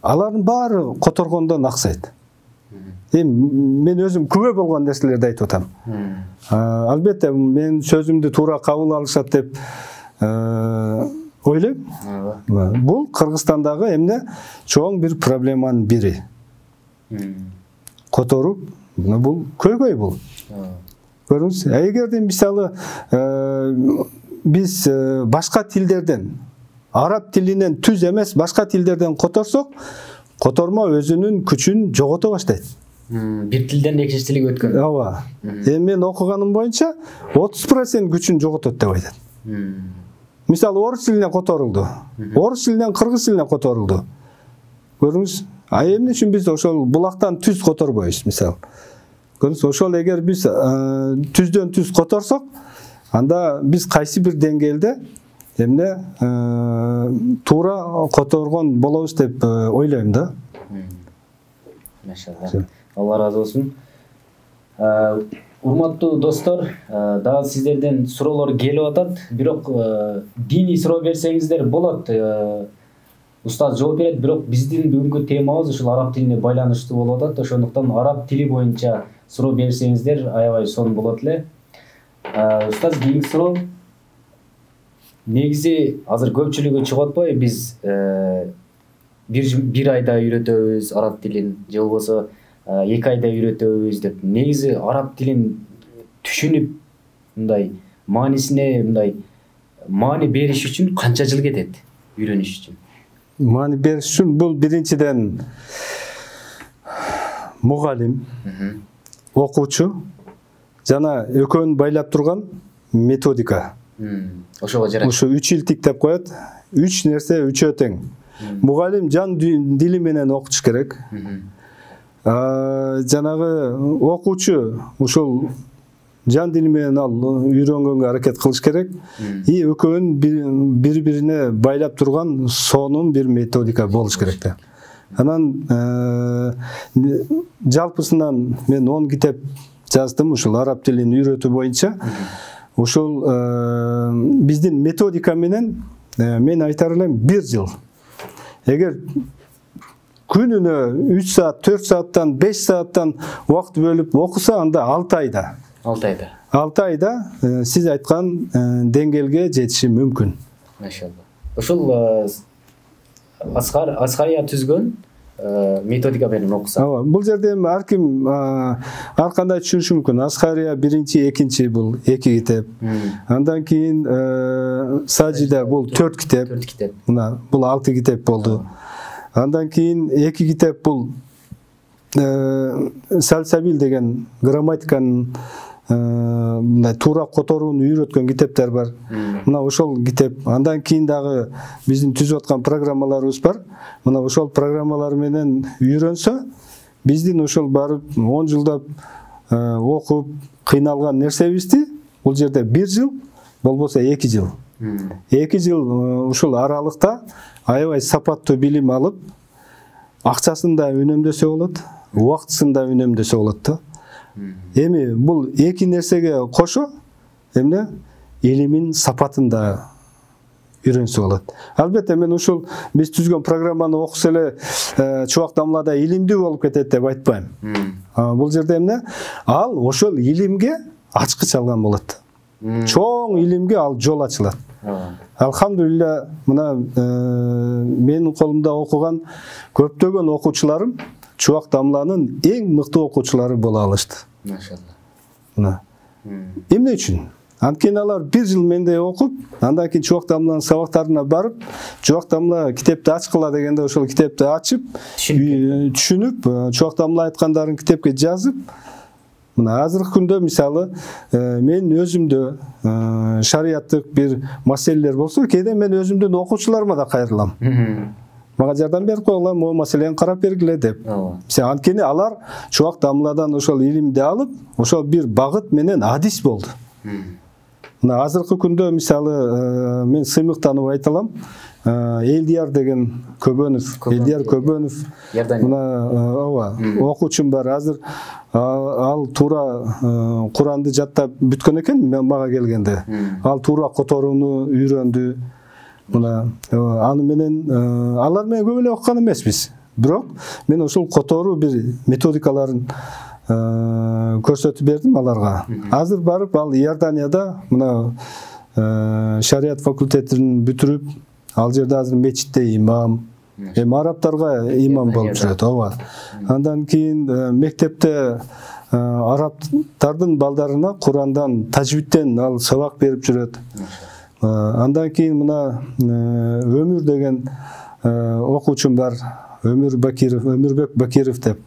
алардын баары которгондон аксайт. Эми мен өзүм күбө болгон нерселерди айтып атам. Албетте мен сөзүмдү туура кабыл алышат деп ойлойм. Бул Кыргызстандагы эмне чоң бир проблеманын бири. Которуп, бул көйгөй бул. Көрүңүз, эгерде мисалы биз башка тилдерден, араб тилинен түз эмес башка тилдерден которсок, котормо өзүнүн күчүн жогото баштайт. Бир тилден экинчи тилге өткөн. Ооба. Эми мен окуганым боюнча отуз процент күчүн жоготот деп айтат. Мисалы орус тилине которулду. Орус тилинен кыргыз тилине которулду. Көрүңүз, а эмне үчүн биз ошол булактан түз которбойбуз, мисалы. Көрүңүз, ошол эгер биз түздөн түз которсок, анда биз кайсы бир деңгээлде эмне туура которгон болобуз деп ойлойм да. Машалла. Алла разы болсун. Урматтуу достор, дагы сиздерден суроолор келип атат, бирок диний суроо берсеңиздер болот. Устаз жооп берет, бирок биздин бүгүнкү темабыз ушул араб тилине байланыштуу болуп атат. Ошондуктан араб тили боюнча суроо берсеңиздер аябай сонун болот эле. Устаз, кийинки суроо. Негизи азыр көпчүлүгү чыгып атпайбы, биз бир бир айда үйрөтөбүз араб тилин, же болбосо эки айда үйрөтөбүз деп. Негизи араб тилин түшүнүп, мындай маанисине мындай маани бериш үчүн канча жыл кетет үйрөнүш үчүн? Маани бериш үчүн бул биринчиден мугалим, окуучу жана экөөнү байлап турган методика. Ошого жарат. Ошо үч илтик деп коет. үч нерсе үчөө тең. Мугалим жан дили менен окутуш керек. Жанагы окуучу ушул жан дили менен ал үйрөнгөнгө аракет кылыш керек. И экөөнүн бири-бирине байлап турган сонун бир методика болуш керек да. Анан жалпысынан мен он китеп жаздым ушул араб тилин үйрөтүү боюнча. Ушул биздин методика менен мен айтар элем бир жыл. Эгер күнүнө үч саат, төрт сааттан, беш сааттан убакыт бөлүп окуса, анда алты айда. алты айда. алты айда сиз айткан деңгээлге жетиши мүмкүн. Машалла. Ушул Аскар Аскария түзгөн методика менен окуса. Ооба, бул жерде эми ар ким ар кандай түшүнүшү мүмкүн. Аскария биринчи, экинчи бул эки китеп. Андан кийин Сажида бул төрт китеп. төрт китеп. Мына бул алты китеп болду. Андан кийин эки китеп бул Сальсабил деген грамматиканын мындай туура которууну үйрөткөн китептер бар. Мына ошол китеп. Андан кийин дагы биздин түзүп аткан программаларыбыз бар. Мына ошол программалар менен үйрөнсө, биздин ошол барып он жылдап окуп кыйналган нерсебизди бул жерде бир жыл, болбосо эки жыл. эки жыл ушул аралыкта аябай сапаттуу билим алып, акчасын да үнөмдөсө болот, убактысын да үнөмдөсө болот да. Эми бул эки нерсеге кошо эмне илимин сапатын да үйрөнсө болот. Албетте мен ушул биз түзгөн программаны окуса эле чубак дамлада илимдүү болуп кетет деп айтпайм. Бул жерде эмне? Ал ошол илимге ачкыч алган болот. Чоң илимге ал жол ачылат. Алхамдулилла, мына менин колумда окуган көптөгөн окуучуларым чубак дамланын эң мыкты окуучулары боло алышты. Машалла. Мына. Эмне үчүн? Анткени алар бир жыл менде окуп, андан кийин чубак дамланын сабактарына барып, чубак дамла китепти ачкыла дегенде ошол китепти ачып, түшүнүп, чубак дамла айткандарын китепке жазып, мына азыркы күндө мисалы мен өзүмдө шариаттык бир маселелер болсо, кээде мен өзүмдүн окуучуларыма да кайрылам. Мага жардам берип койгула, могу маселени карап бергиле деп. Мисалы анткени алар чубак дамладан ошол илимди алып, ошол бир багыт менен адис болду. Мына азыркы күндө мисалы мен сыймыктанып айта алам. Элдияр деген Көбөнов, Элдияр Көбөнов. Мына ооба, окуучум бар. Азыр ал туура Куранды жаттап бүткөн экен мага келгенде. Ал туура которууну үйрөндү. Мына аны менен алар менен көп эле окуган эмеспиз. Бирок мен ошол которуу бир методикаларын көрсөтүп бердим аларга. Азыр барып ал Иорданияда мына шарият факультетин бүтүрүп, ал жерде азыр мечитте имам, эми арабтарга имам болуп жүрөт, ооба. Андан кийин мектепте арабтардын балдарына Курандан, тажвидтен ал сабак берип жүрөт. Андан кийин мына Өмүр деген окуучум бар. Өмүр Бакиров, Өмүрбек Бакиров деп.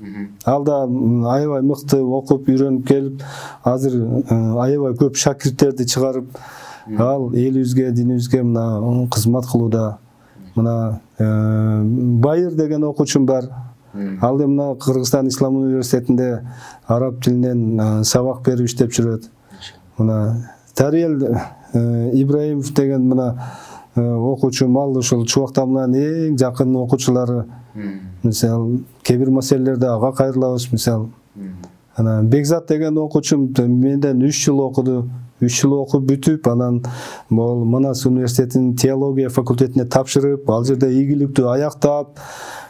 Ал да аябай мыкты окуп, үйрөнүп келип, азыр аябай көп шакирттерди чыгарып, ал элибизге, динибизге мына кызмат кылууда. Мына Байыр деген окуучум бар. Ал да мына Кыргызстан Ислам университетинде араб тилинен сабак берип иштеп жүрөт. Мына Тариел Ибраимов деген мына окуучум, ал ошол чубак дамланын эң жакын окуучулары. Мисалы, кээ бир маселелерде ага кайрылабыз, мисалы. Анан Бекзат деген окуучум менден үч жыл окуду. үч жыл окуп бүтүп, анан бул Манас университетинин теология факультетине тапшырып, ал жерде ийгиликтүү аяктап,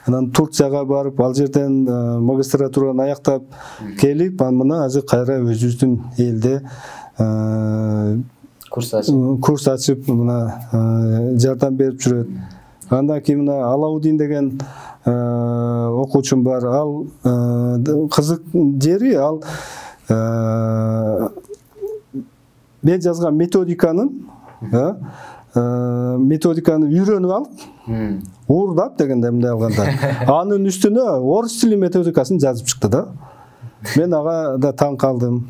анан Турцияга барып, ал жерден магистратураны аяктап келип, анан мына азыр кайра өзүбүздүн элде курс ачып, курс ачып мына жардам берип жүрөт. Андан кийин мына Алаудин деген окуучум бар. Ал кызык жери, ал мен жазган методиканын методиканы үйрөнүп алып, уурдап дегенде мындай алганда, анын үстүнө орус тили методикасын жазып чыкты да. Мен ага да таң калдым.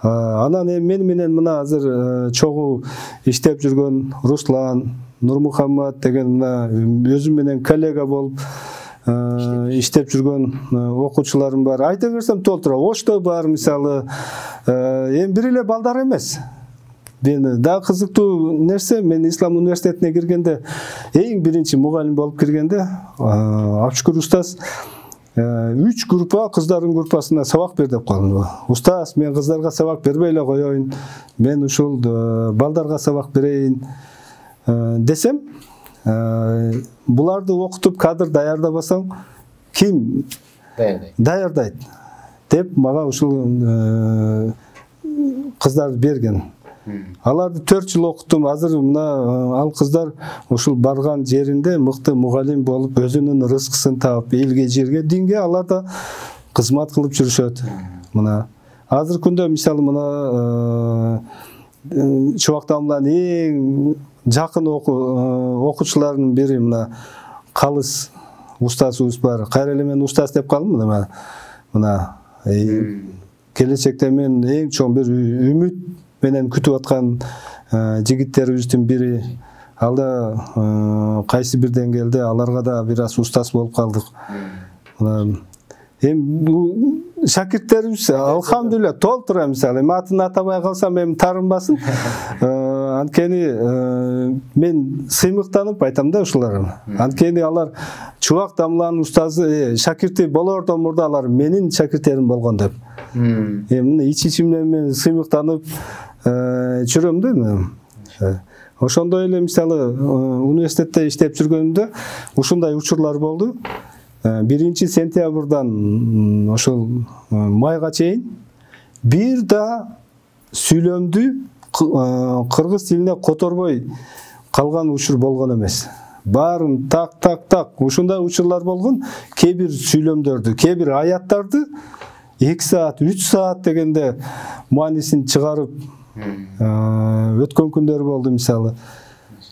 Анан эми мен менен мына азыр чогуу иштеп жүргөн Руслан, Нурмухаммад деген мына өзүм менен коллега болуп иштеп жүргөн окуучуларым бар. Айта берсем толтура. Ошто бар мисалы, эми бир эле балдар эмес. Мен да кызыктуу нерсе, мен Ислам университетине киргенде, эң биринчи мугалим болуп киргенде, Абшүкүр устаз үч группа, кыздардын группасына сабак бер деп калды. Устаз, мен кыздарга сабак бербей эле коеюн, мен ушул балдарга сабак берейин десем, буларды окутуп кадр даярдабасаң, ким даярдайт деп мага ушул кыздарды берген. Аларды төрт жыл окуттум. Азыр мына ал кыздар ушул барган жеринде мыкты мугалим болуп, өзүнүн рызкысын таап, элге, жерге, динге алар да кызмат кылып жүрүшөт. Мына азыр күндө мисалы мына Чубактамдын эң жакын окуучуларынын бири мына Калыс устазыбыз бар. Кайра эле мен устаз деп калдым мына. Мына келечекте мен эң чоң бир үмүт менен күтүп аткан жигиттерибиздин бири. Ал да кайсы бир деңгээлде аларга да бир аз устаз болуп калдык. Эми бул шакирттерибиз алхамдулилля толтура, мисалы эми атын атабай калсам эми тарынбасын. Анткени мен сыймыктанып айтам да ушуларга. Анткени алар Чубак Дамланын устазы, шакирти болордон мурда алар менин шакирттерим болгон деп. Эми ич-ичимден мен сыймыктанып жүрөм да. Ошондой эле мисалы университетте иштеп жүргөнүмдө ушундай учурлар болду. биринчи сентябрдан ошол майга чейин бир да сүйлөмдү кыргыз тилине которбой калган учур болгон эмес. Баарын так так так ушундай учурлар болгон. Кээ бир сүйлөмдөрдү, кээ бир аяттарды эки саат, үч саат дегенде маанисин чыгарып өткөн күндөр болду мисалы.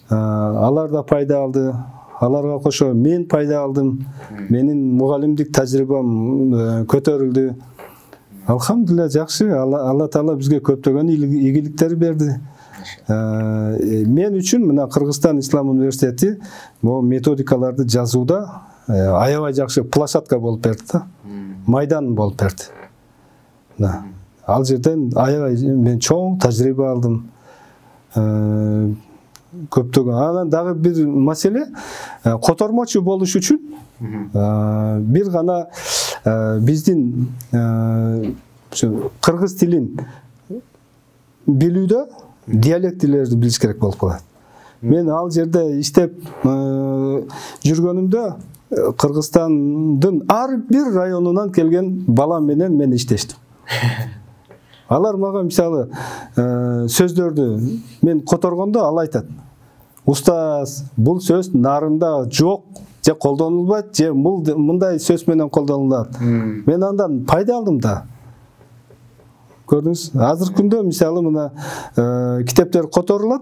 Алар да пайда алды. Аларга кошо мен пайда алдым. Менин мугалимдик тажрыйбам көтөрүлдү. Алхамдулилла жакшы. Алла Таала бизге көптөгөн ийгиликтер берди. Мен үчүн мына Кыргызстан Ислам университети бул методикаларды жазууда аябай жакшы площадка болуп берди да. Майдан болуп берди. Ал жерден аябай мен чоң тажрыйба алдым. Көптөгөн. Анан дагы бир маселе, котормочу болуш үчүн бир гана биздин кыргыз тилин билүүдө диалектилерди билиш керек болуп калат. Мен ал жерде иштеп жүргөнүмдө Кыргызстандын ар бир районунан келген балам менен мен иштештим. Алар мага мисалы сөздөрдү мен которгондо ал айтат: "Устаз, бул сөз нарында жок, же колдонулбайт, же мындай сөз менен колдонулат." Мен андан пайда алдым да. Көрдүңүз? Азыр күндө мисалы мына китептер которулат.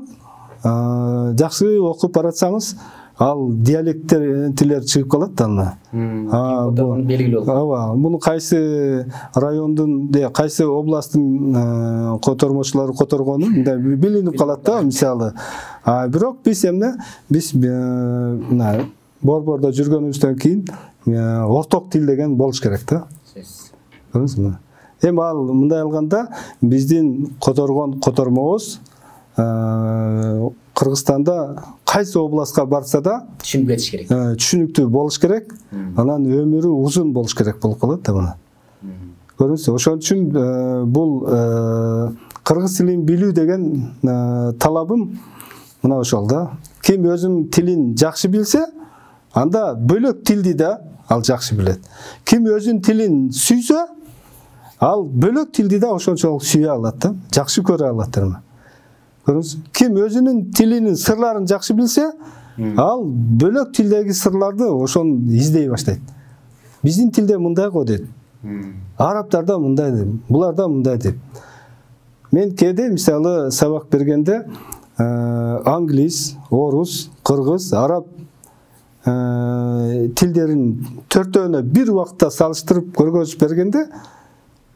Жакшы окуп баратсаңыз, ал диалектилер чыгып калат да аны. Ооба, муну кайсы райондун, кайсы областтын котормочулары которгону билинип калат да мисалы. А бирок биз эмне? Биз мына борбордо жүргөнүбүздөн кийин орток тил деген болуш керек да. Көрдүңүзбү? Эми ал мындай алганда биздин которгон котормобуз Кыргызстанда кайсы областка барса да түшүнүп кетиш керек. Түшүнүктүү болуш керек. Анан өмүрү узун болуш керек болуп калат да мына. Көрдүңүзбү? Ошон үчүн бул кыргыз тилин билүү деген талабым мына ошол да. Ким өзүнүн тилин жакшы билсе, анда бөлөк тилди да ал жакшы билет. Ким өзүнүн тилин сүйсө, ал бөлөк тилди да ошончолук сүйө алат да, жакшы көрө алат да. Ким өзүнүн тилинин сырларын жакшы билсе, ал бөлөк тилдеги сырларды ошон издей баштайт. Биздин тилде мындай го дейт. Арабтарда мындай дейт, буларда мындай дейт. Мен кээде мисалы сабак бергенде англис, орус, кыргыз, араб тилдерин төртөөнө бир убакытта салыштырып көргөзүп бергенде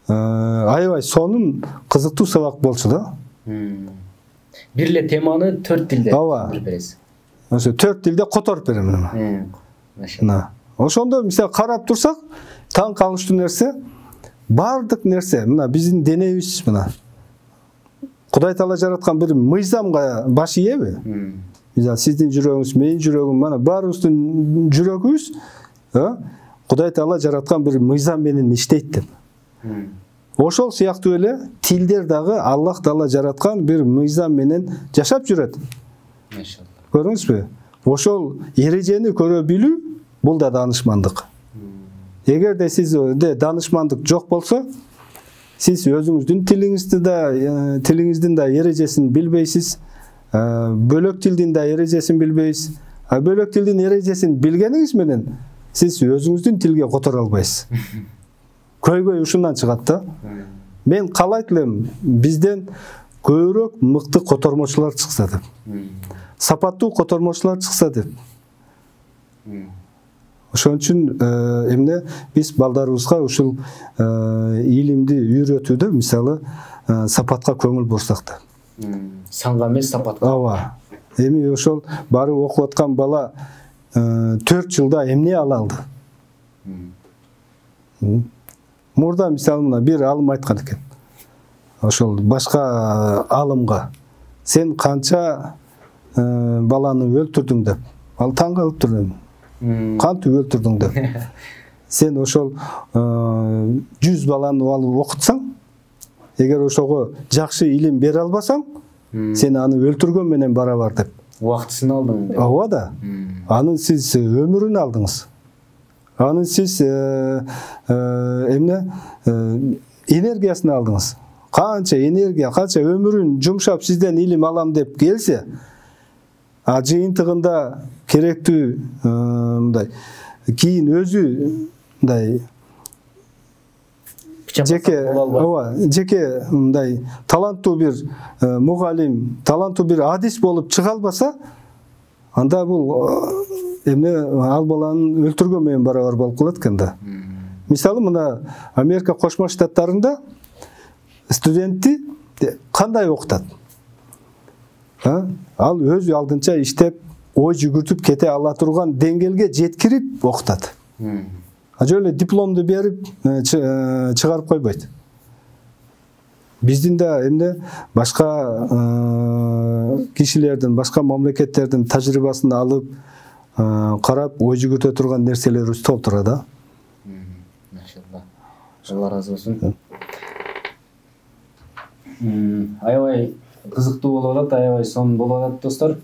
аябай сонун кызыктуу сабак болчу да. Бир эле теманы төрт тилде бересиз. ошо төрт тилде которуп берем мына. Машалла. Ошондо мисалы карап турсак, таң калыштуу нерсе, бардык нерсе мына биздин денебиз мына Кудай Таала жараткан бир мыйзамга баш ийеби? Мисалы сиздин жүрөгүңүз, менин жүрөгүм, мана баарыбыздын жүрөгүбүз, Кудай Таала жараткан бир мыйзам менен иштейт деп. Ошол сыяктуу эле тилдер дагы Аллах Таала жараткан бир мыйзам менен жашап жүрөт. Машалла. Көрдүңүзбү? Ошол эрежени көрө билүү бул да даанышмандык. Эгерде сизде даанышмандык жок болсо, сиз өзүңүздүн тилиңизди да, тилиңиздин да эрежесин билбейсиз, бөлөк тилдин да эрежесин билбейсиз. А бөлөк тилдин эрежесин билгениңиз менен сиз өзүңүздүн тилге которо албайсыз. Көйгөй ушундан чыгат да. Мен каалайт элем бизден көбүрөөк мыкты котормочулар чыкса деп. Сапаттуу котормочулар чыкса деп. Ошон үчүн эмне биз балдарыбызга ушул илимди үйрөтүүдө мисалы сапатка көңүл бурсак да. Санга эмес сапатка. Ооба. Эми ошол барып окуп аткан бала төрт жылда эмне ала алды? Мурда мисалы мына бир алым айткан экен. Ошол башка алымга сен канча баланы өлтүрдүң деп. Ал таң калып турдум. Кантип өлтүрдүң деп. Сен ошол жүз баланы алып окутсаң, эгер ошого жакшы илим бере албасаң, сен аны өлтүргөн менен барабар деп. Убактысын алдың деп. Ооба да. Анын сиз өмүрүн алдыңыз. Анын сиз эмне энергиясын алдыңыз. Канча энергия, канча өмүрүн жумшап сизден илим алам деп келсе, а жыйынтыгында керектүү мындай кийин өзү мындай жеке ооба жеке мындай таланттуу бир мугалим, таланттуу бир адис болуп чыга албаса, анда бул эмне ал баланын өлтүргөн менен барабар болуп калат экен да. Мисалы мына Америка Кошмо Штаттарында студентти кандай окутат? Ал өз алдынча иштеп, ой жүгүртүп кете ала турган деңгээлге жеткирип окутат. А жөн эле дипломду берип чыгарып койбойт. Биздин да эмне башка кишилердин, башка мамлекеттердин тажрыйбасын алып, карап, ой жүгүртө турган нерселерибиз толтура да. Машалла. Алла разы болсун. Аябай кызыктуу болуп атат, аябай сонун болуп атат достор.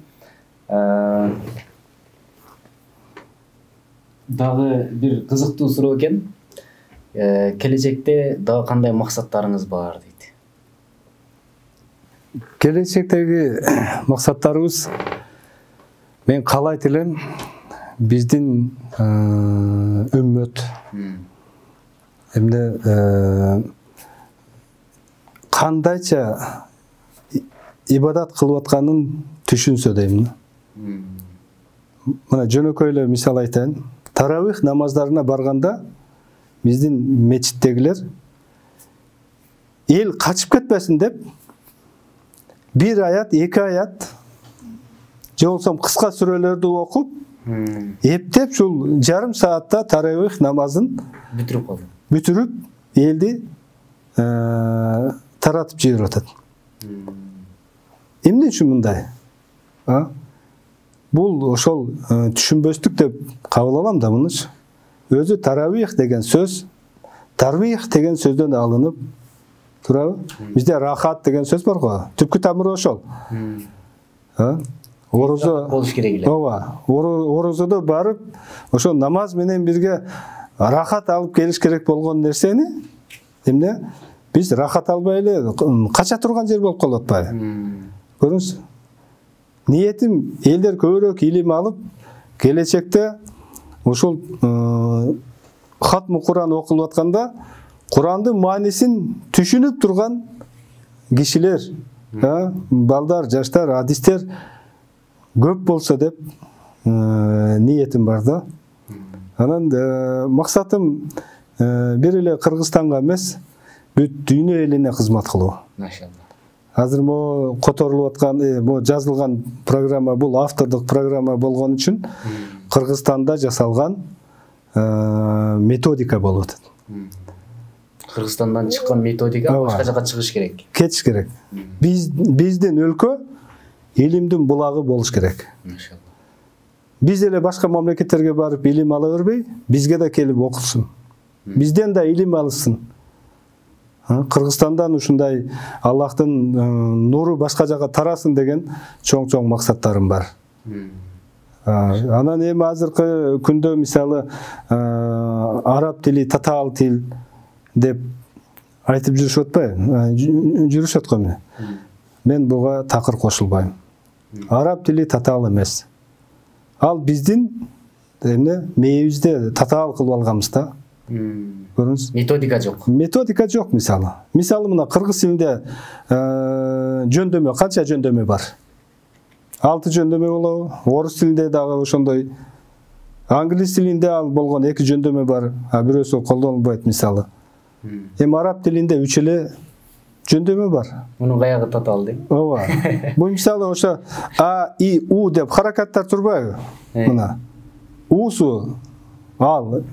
Дагы бир кызыктуу суроо экен. Келечекте дагы кандай максаттарыңыз бар дейт? Келечектеги максаттарыбыз, мен каалайт элем биздин үммөт эмне кандайча ибадат кылып атканын түшүнсө дейм. Мына жөнөкөй эле мисал айтайын. Таравих намаздарына барганда биздин мечиттегилер эл качып кетпесин деп бир аят, эки аят же болсо кыска сүрөлөрдү окуп, эптеп ушул жарым саатта таравих намазын бүтүрүп калды. Бүтүрүп элди таратып жиберип атат. Эмне үчүн мындай? Бул ошол түшүнбөстүк деп кабыл алам да мунучу. Өзү таравих деген сөз, тарвих деген сөздөн алынып турабы? Бизде рахат деген сөз бар го. Түпкү тамыры ошол. Орозо болуш керек эле. Ооба, орозодо барып, ошо намаз менен бирге рахат алып келиш керек болгон нерсени эмне? Биз рахат албай эле кача турган жер болуп калып атпайбы? Көрүңүз. Ниетим элдер көбүрөөк илим алып, келечекте ошол хатмы Куран окулуп атканда Курандын маанисин түшүнүп турган кишилер, балдар, жаштар, адистер көп болсо деп ниетим бар да. Анан максатым бир эле Кыргызстанга эмес, бүт дүйнө элине кызмат кылуу. Машалла. азыр могу которулуп аткан, могу жазылган программа бул автордук программа болгон үчүн Кыргызстанда жасалган методика болуп атат. Кыргызстандан чыккан методика башка жака чыгыш керек. Кетиш керек. Биз биздин өлкө илимдин булагы болуш керек. Машалла. Биз эле башка мамлекеттерге барып илим ала бербей, бизге да келип окусун. Бизден да илим алышсын. Кыргызстандан ушундай Аллахтын нуру башка жака тарасын деген чоң-чоң максаттарым бар. Анан эми азыркы күндө мисалы араб тили, татаал тил деп айтып жүрүшүп атпайбы? Жүрүшөт го эмне? Мен буга такыр кошулбайм. Араб тили татаал эмес. Ал биздин эмне мээбизде татаал кылып алганбыз да. Көрүңүз. Методика жок. Методика жок мисалы. Мисалы мына кыргыз тилинде жөндөмө, канча жөндөмө бар? алты жөндөмө болобу? Орус тилинде дагы ошондой. Англис тилинде ал болгон эки жөндөмө бар, а бирөөсү колдонулбайт мисалы. Эми араб тилинде үч эле жөндөмө бар. Мунун каягы татаал дейм. Ооба. Бул мисалы ошо а, и, у деп харакаттар турбайбы? Мына. Усу ал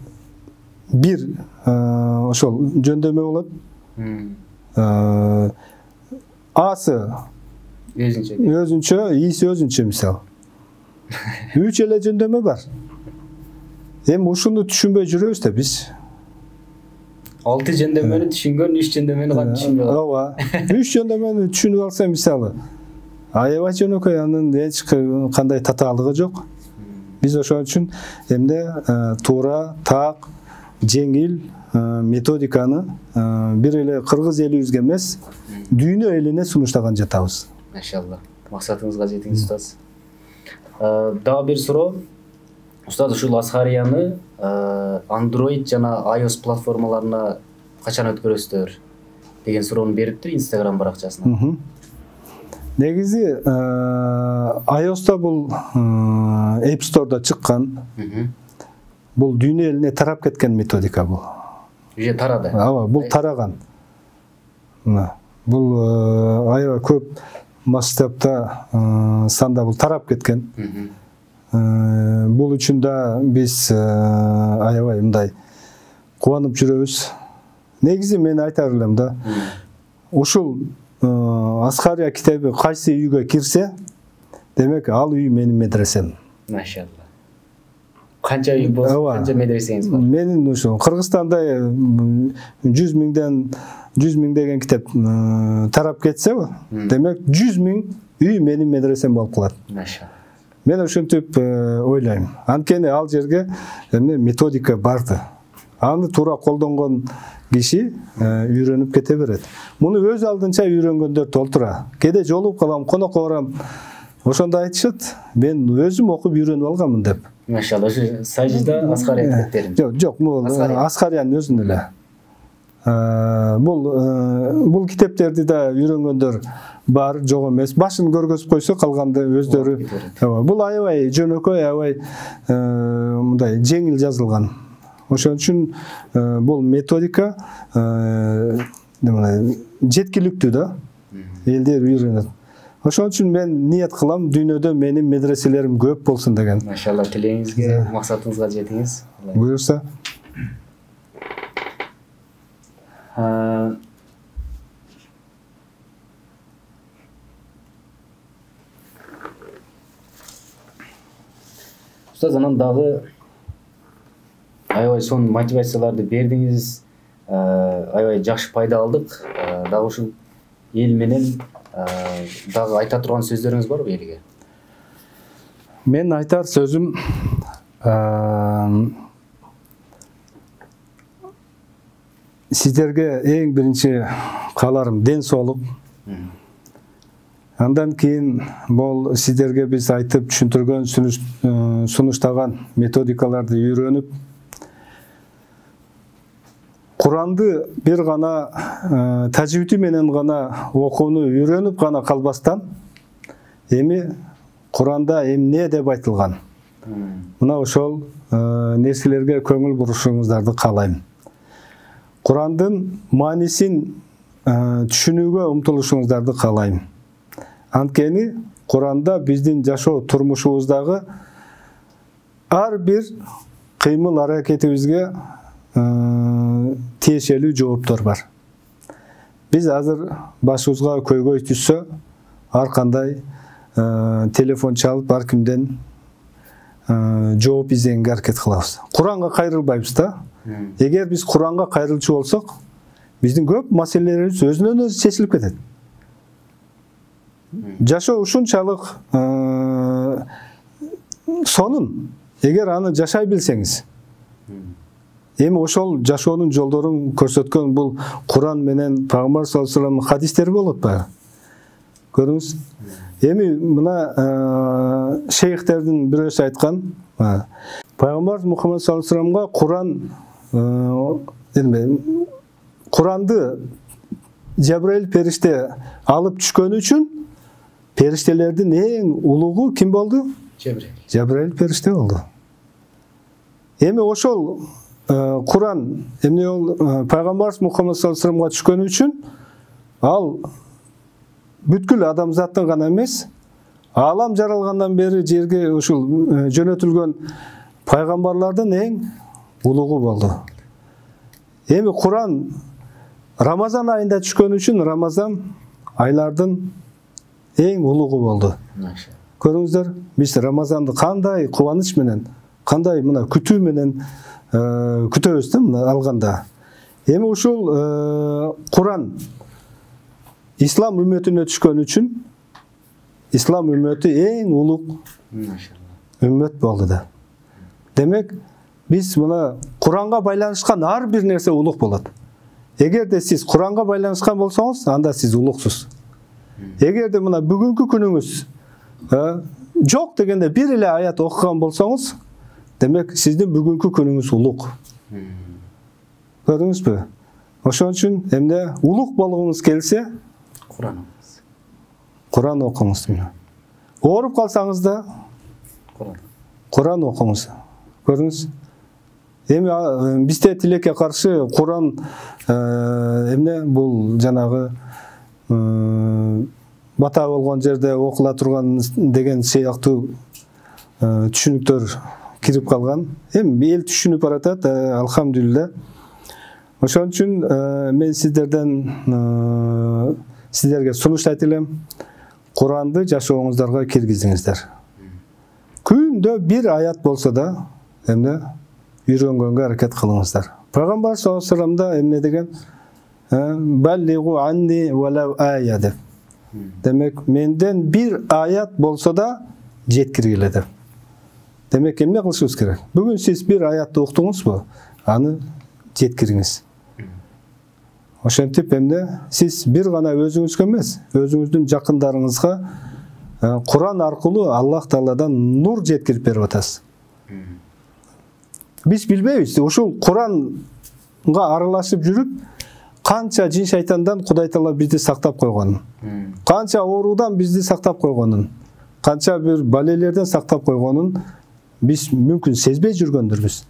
бир ошол жөндөмө болот. Асы өзүнчө. Өзүнчө, иси өзүнчө мисалы. Үч эле жөндөмө бар. Эми ушуну түшүнбөй жүрөбүз да биз. алты жөндөмөнү түшүнгөн, үч жөндөмөнү кантип түшүнбөй калат? Ооба. үч жөндөмөнү түшүнүп алса мисалы, аябай жөнөкөй, анын эч кандай татаалыгы жок. Биз ошон үчүн эмне туура, так, жеңил методиканы бир эле кыргыз элибизге эмес, дүйнө элине сунуштаган жатабыз. Машалла. Максатыңызга жетиңиз, устаз. Дагы бир суроо. Устаз, ушул Асхарияны Android жана iOS платформаларына качан өткөрөсүздөр деген суроону бериптир Instagram баракчасына. Негизи iOS'та бул App Store'да чыккан. Бул дүйнө элине тарап кеткен методика бул. Уже тарады. Ооба, бул тараган. Мына, бул аябай көп масштабта санда бул тарап кеткен. Бул үчүн да биз аябай мындай кубанып жүрөбүз. Негизи мен айтар элем да, ушул Асхария китеби кайсы үйгө кирсе, демек ал үй менин медресем. Машалла. Канча үй болсо, канча медресеңиз бар? Менин ушул Кыргызстанда жүз миңден жүз миң деген китеп тарап кетсе, демек жүз миң үй менин медресем болуп калат. Машалла. Мен ушинтип ойлойм. Анткени ал жерге эмне методика барды. Аны туура колдонгон киши үйрөнүп кете берет. Муну өз алдынча үйрөнгөндөр толтура. Кеде жолугуп калам, конокко барам. Ошондо айтышат, мен өзүм окуп үйрөнүп алганмын деп. Машалла, ошо сажда Асхария китептерин. Жок, жок, бул Асхариянын өзүн эле. Бул бул китептерди да үйрөнгөндөр бар, жок эмес. Башын көргөзүп койсо, калганды өздөрү. Бул аябай жөнөкөй, аябай мындай жеңил жазылган. Ошон үчүн бул методика жеткиликтүү да. Элдер үйрөнөт. Ошон үчүн мен ниет кылам, дүйнөдө менин медреселерим көп болсун деген. Машалла, тилегиңизге, максатыңызга жетиңиз. Буюрса. Устаз, анан дагы аябай сонун мотивацияларды бердиңиз, аябай жакшы пайда алдык. Дагы ушул эл менен дагы айта турган сөздөрүңүз барбы элге? Мен айтар сөзүм сиздерге эң биринчи кааларым ден соолук. Андан кийин бул сиздерге биз айтып түшүндүргөн, сунуштаган методикаларды үйрөнүп, Куранды бир гана тажвиди менен гана окууну үйрөнүп гана калбастан, эми Куранда эмне деп айтылган? Мына ошол нерселерге көңүл бурушуңуздарды каалайм. Курандын маанисин түшүнүүгө умтулушуңуздарды каалайм. Анткени Куранда биздин жашоо турмушубуздагы ар бир кыймыл аракетибизге тиешелүү жооптор бар. Биз азыр башыбызга көйгөй түшсө, ар кандай телефон чалып ар кимден жооп издегенге аракет кылабыз. Куранга кайрылбайбыз да. Эгер биз Куранга кайрылчу болсок, биздин көп маселелерибиз өзүнөн өзү чечилип кетет. Жашоо ушунчалык сонун, эгер аны жашай билсеңиз. Эми ошол жашоонун жолдорун көрсөткөн бул Куран менен Пайгамбар саллаллаху алейхи вассаламдын хадистери болот баягы. Көрүңүз. Эми мына шейхтердин бирөөсү айткан, Пайгамбар Мухаммад саллаллаху алейхи вассаламга Куран Куранды Жабраил периште алып түшкөнү үчүн периштелердин эң улугу ким болду? Жабраил. Жабраил периште болду. Эми ошол Куран эмне ол Пайгамбар Мухаммад саллаллаху алейхи вассаламга түшкөнү үчүн ал бүткүл адамзаттын гана эмес, аалам жаралгандан бери жерге ушул жөнөтүлгөн пайгамбарлардын эң улугу болду. Эми Куран Рамазан айында түшкөн үчүн Рамазан айлардын эң улугу болду. Көрүңүздөр, биз Рамазанды кандай кубаныч менен, кандай мына күтүү менен күтөбүз да мына алганда. Эми ушул Куран ислам үммөтүнө түшкөн үчүн ислам үммөтү эң улуг үммөт болду да. Демек, биз мына Куранга байланышкан ар бир нерсе улуг болот. Эгерде сиз Куранга байланышкан болсоңуз, анда сиз улуксуз. Эгерде мына бүгүнкү күнүңүз жок дегенде бир эле аят окуган болсоңуз, демек сиздин бүгүнкү күнүңүз улуг. Көрдүңүзбү? Ошон үчүн эмне улуг болгуңуз келсе, Куран окуңуз. Куран окуңуз. Ооруп калсаңыз да Куран. Куран окуңуз. Көрдүңүз? Эми бизде тилекке каршы Куран эмне бул жанагы бата болгон жерде окула турган деген сыяктуу түшүнүктөр кирип калган. Эми эл түшүнүп баратат, алхамдулилла. Ошон үчүн мен сиздерден сиздерге сунуш айтып элем, Куранды жашооңуздарга киргизиңиздер. Күндө бир аят болсо да, эмне үйрөнгөнгө аракет кылыңыздар. Пайгамбар саллаллаху алейхи вассалам да эмне деген? Баллигу анни валау ая деп. Демек, менден бир аят болсо да жеткиргиле деп. Демек, эмне кылышыбыз керек? Бүгүн сиз бир аятты уктуңузбу? Аны жеткириңиз. Ошентип эмне сиз бир гана өзүңүзгө эмес, өзүңүздүн жакындарыңызга Куран аркылуу Аллах Тааладан нур жеткирип берип атасыз. Биз билбейбиз, ушул Куранга аралашып жүрүп, канча жин шайтандан Кудай Таала бизди сактап койгонун, канча оорудан бизди сактап койгонун, канча бир балелерден сактап койгонун биз мүмкүн сезбей жүргөндүрбүз.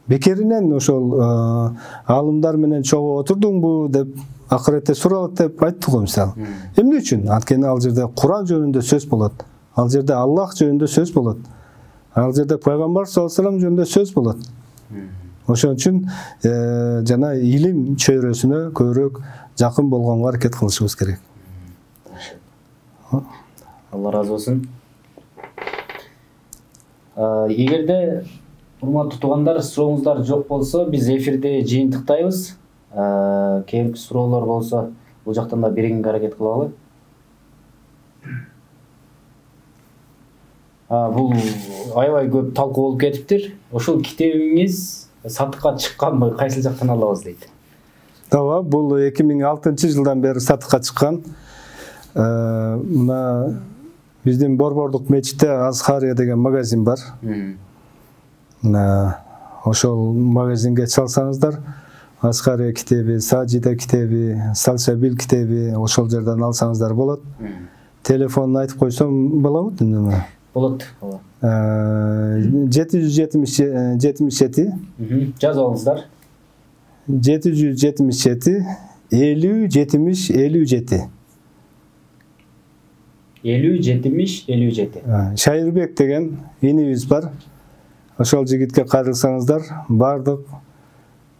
Бекеринен ошол алымдар менен чогуу отурдуңбу деп акыретте суралат деп айтты го мисалы. Эмне үчүн? Анткени ал жерде Куран жөнүндө сөз болот. Ал жерде Аллах жөнүндө сөз болот. Ал жерде Пайгамбар саллаллаху алейхи вассалам жөнүндө сөз болот. Ошон үчүн жана илим чөйрөсүнө көбүрөөк жакын болгонго аракет кылышыбыз керек. Алла разы болсун. Эгерде урматтуу туугандар, сурооңуздар жок болсо, биз эфирде жыйынтыктайбыз. Кээинки суроолор болсо, бул жактан да берүүгө аракет кылалы. Бул аябай көп талкуу болуп кетиптир. Ошол китебиңиз сатыкка чыкканбы, кайсыл жактан алабыз дейт. Ооба, бул эки миң алтынчы жылдан бери сатыкка чыккан. Мына биздин Борбордук мечитте Азхария деген магазин бар. Мына ошол магазинге чалсаңыздар, Азхария китеби, Саджида китеби, Салсабил китеби ошол жерден алсаңыздар болот. Телефонун айтып койсом болобу? Болот. жети жүз жетимиш жети. Жазып алыңыздар. жети жүз жетимиш жети элүү жетимиш элүү жети. элүү жетимиш элүү жети. Шайырбек деген инибиз бар. Ошол жигитке кайрылсаңыздар, бардык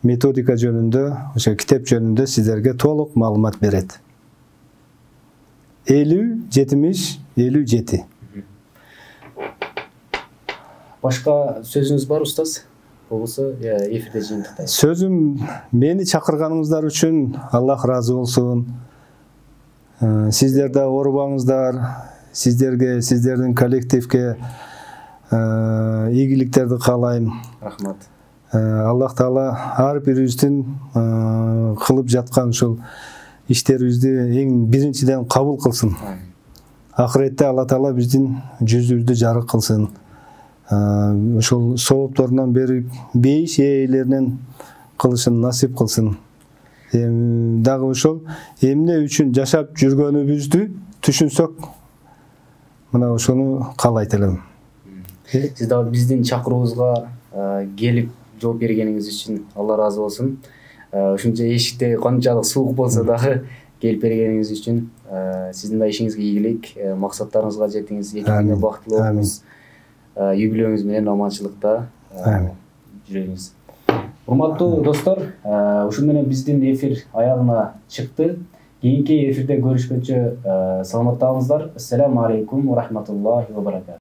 методика жөнүндө, ошо китеп жөнүндө сиздерге толук маалымат берет. элүү жетимиш элүү жети. Башка сөзүңүз бар устаз? Болбосо эфирде жыйынтыктайбыз. Сөзүм, мени чакырганыңыздар үчүн Аллах ыраазы болсун. Сиздер да оорубаңыздар. Сиздерге, сиздердин коллективге ийгиликтерди каалайм. Рахмат. Аллах Таала ар бирибиздин кылып жаткан ушул иштерибизди эң биринчиден кабыл кылсын. Акыретте Алла Таала биздин жүзүбүздү жарык кылсын. Ошол соопторунан берип бейиш ээлеринен кылышын насип кылсын. Дагы ошол эмне үчүн жашап жүргөнүбүздү түшүнсөк, мына ошону каалайт элем. Сиз дагы биздин чакыруубузга келип жооп бергениңиз үчүн Алла ыраазы болсун. Ушунча эшикте канчалык суук болсо дагы келип бергениңиз үчүн сиздин да ишиңизге ийгилик, максаттарыңызга жетиңиз, экиңизге бактылуу болуңуз. Юбилейиңиз менен аманчылыкта жүрөңүз. Урматтуу достор, ушун менен биздин эфир аягына чыкты. Кийинки эфирде көрүшкөнчө саламатта болуңуздар. Ассаламу алейкум ва рахматуллахи ва баракатух.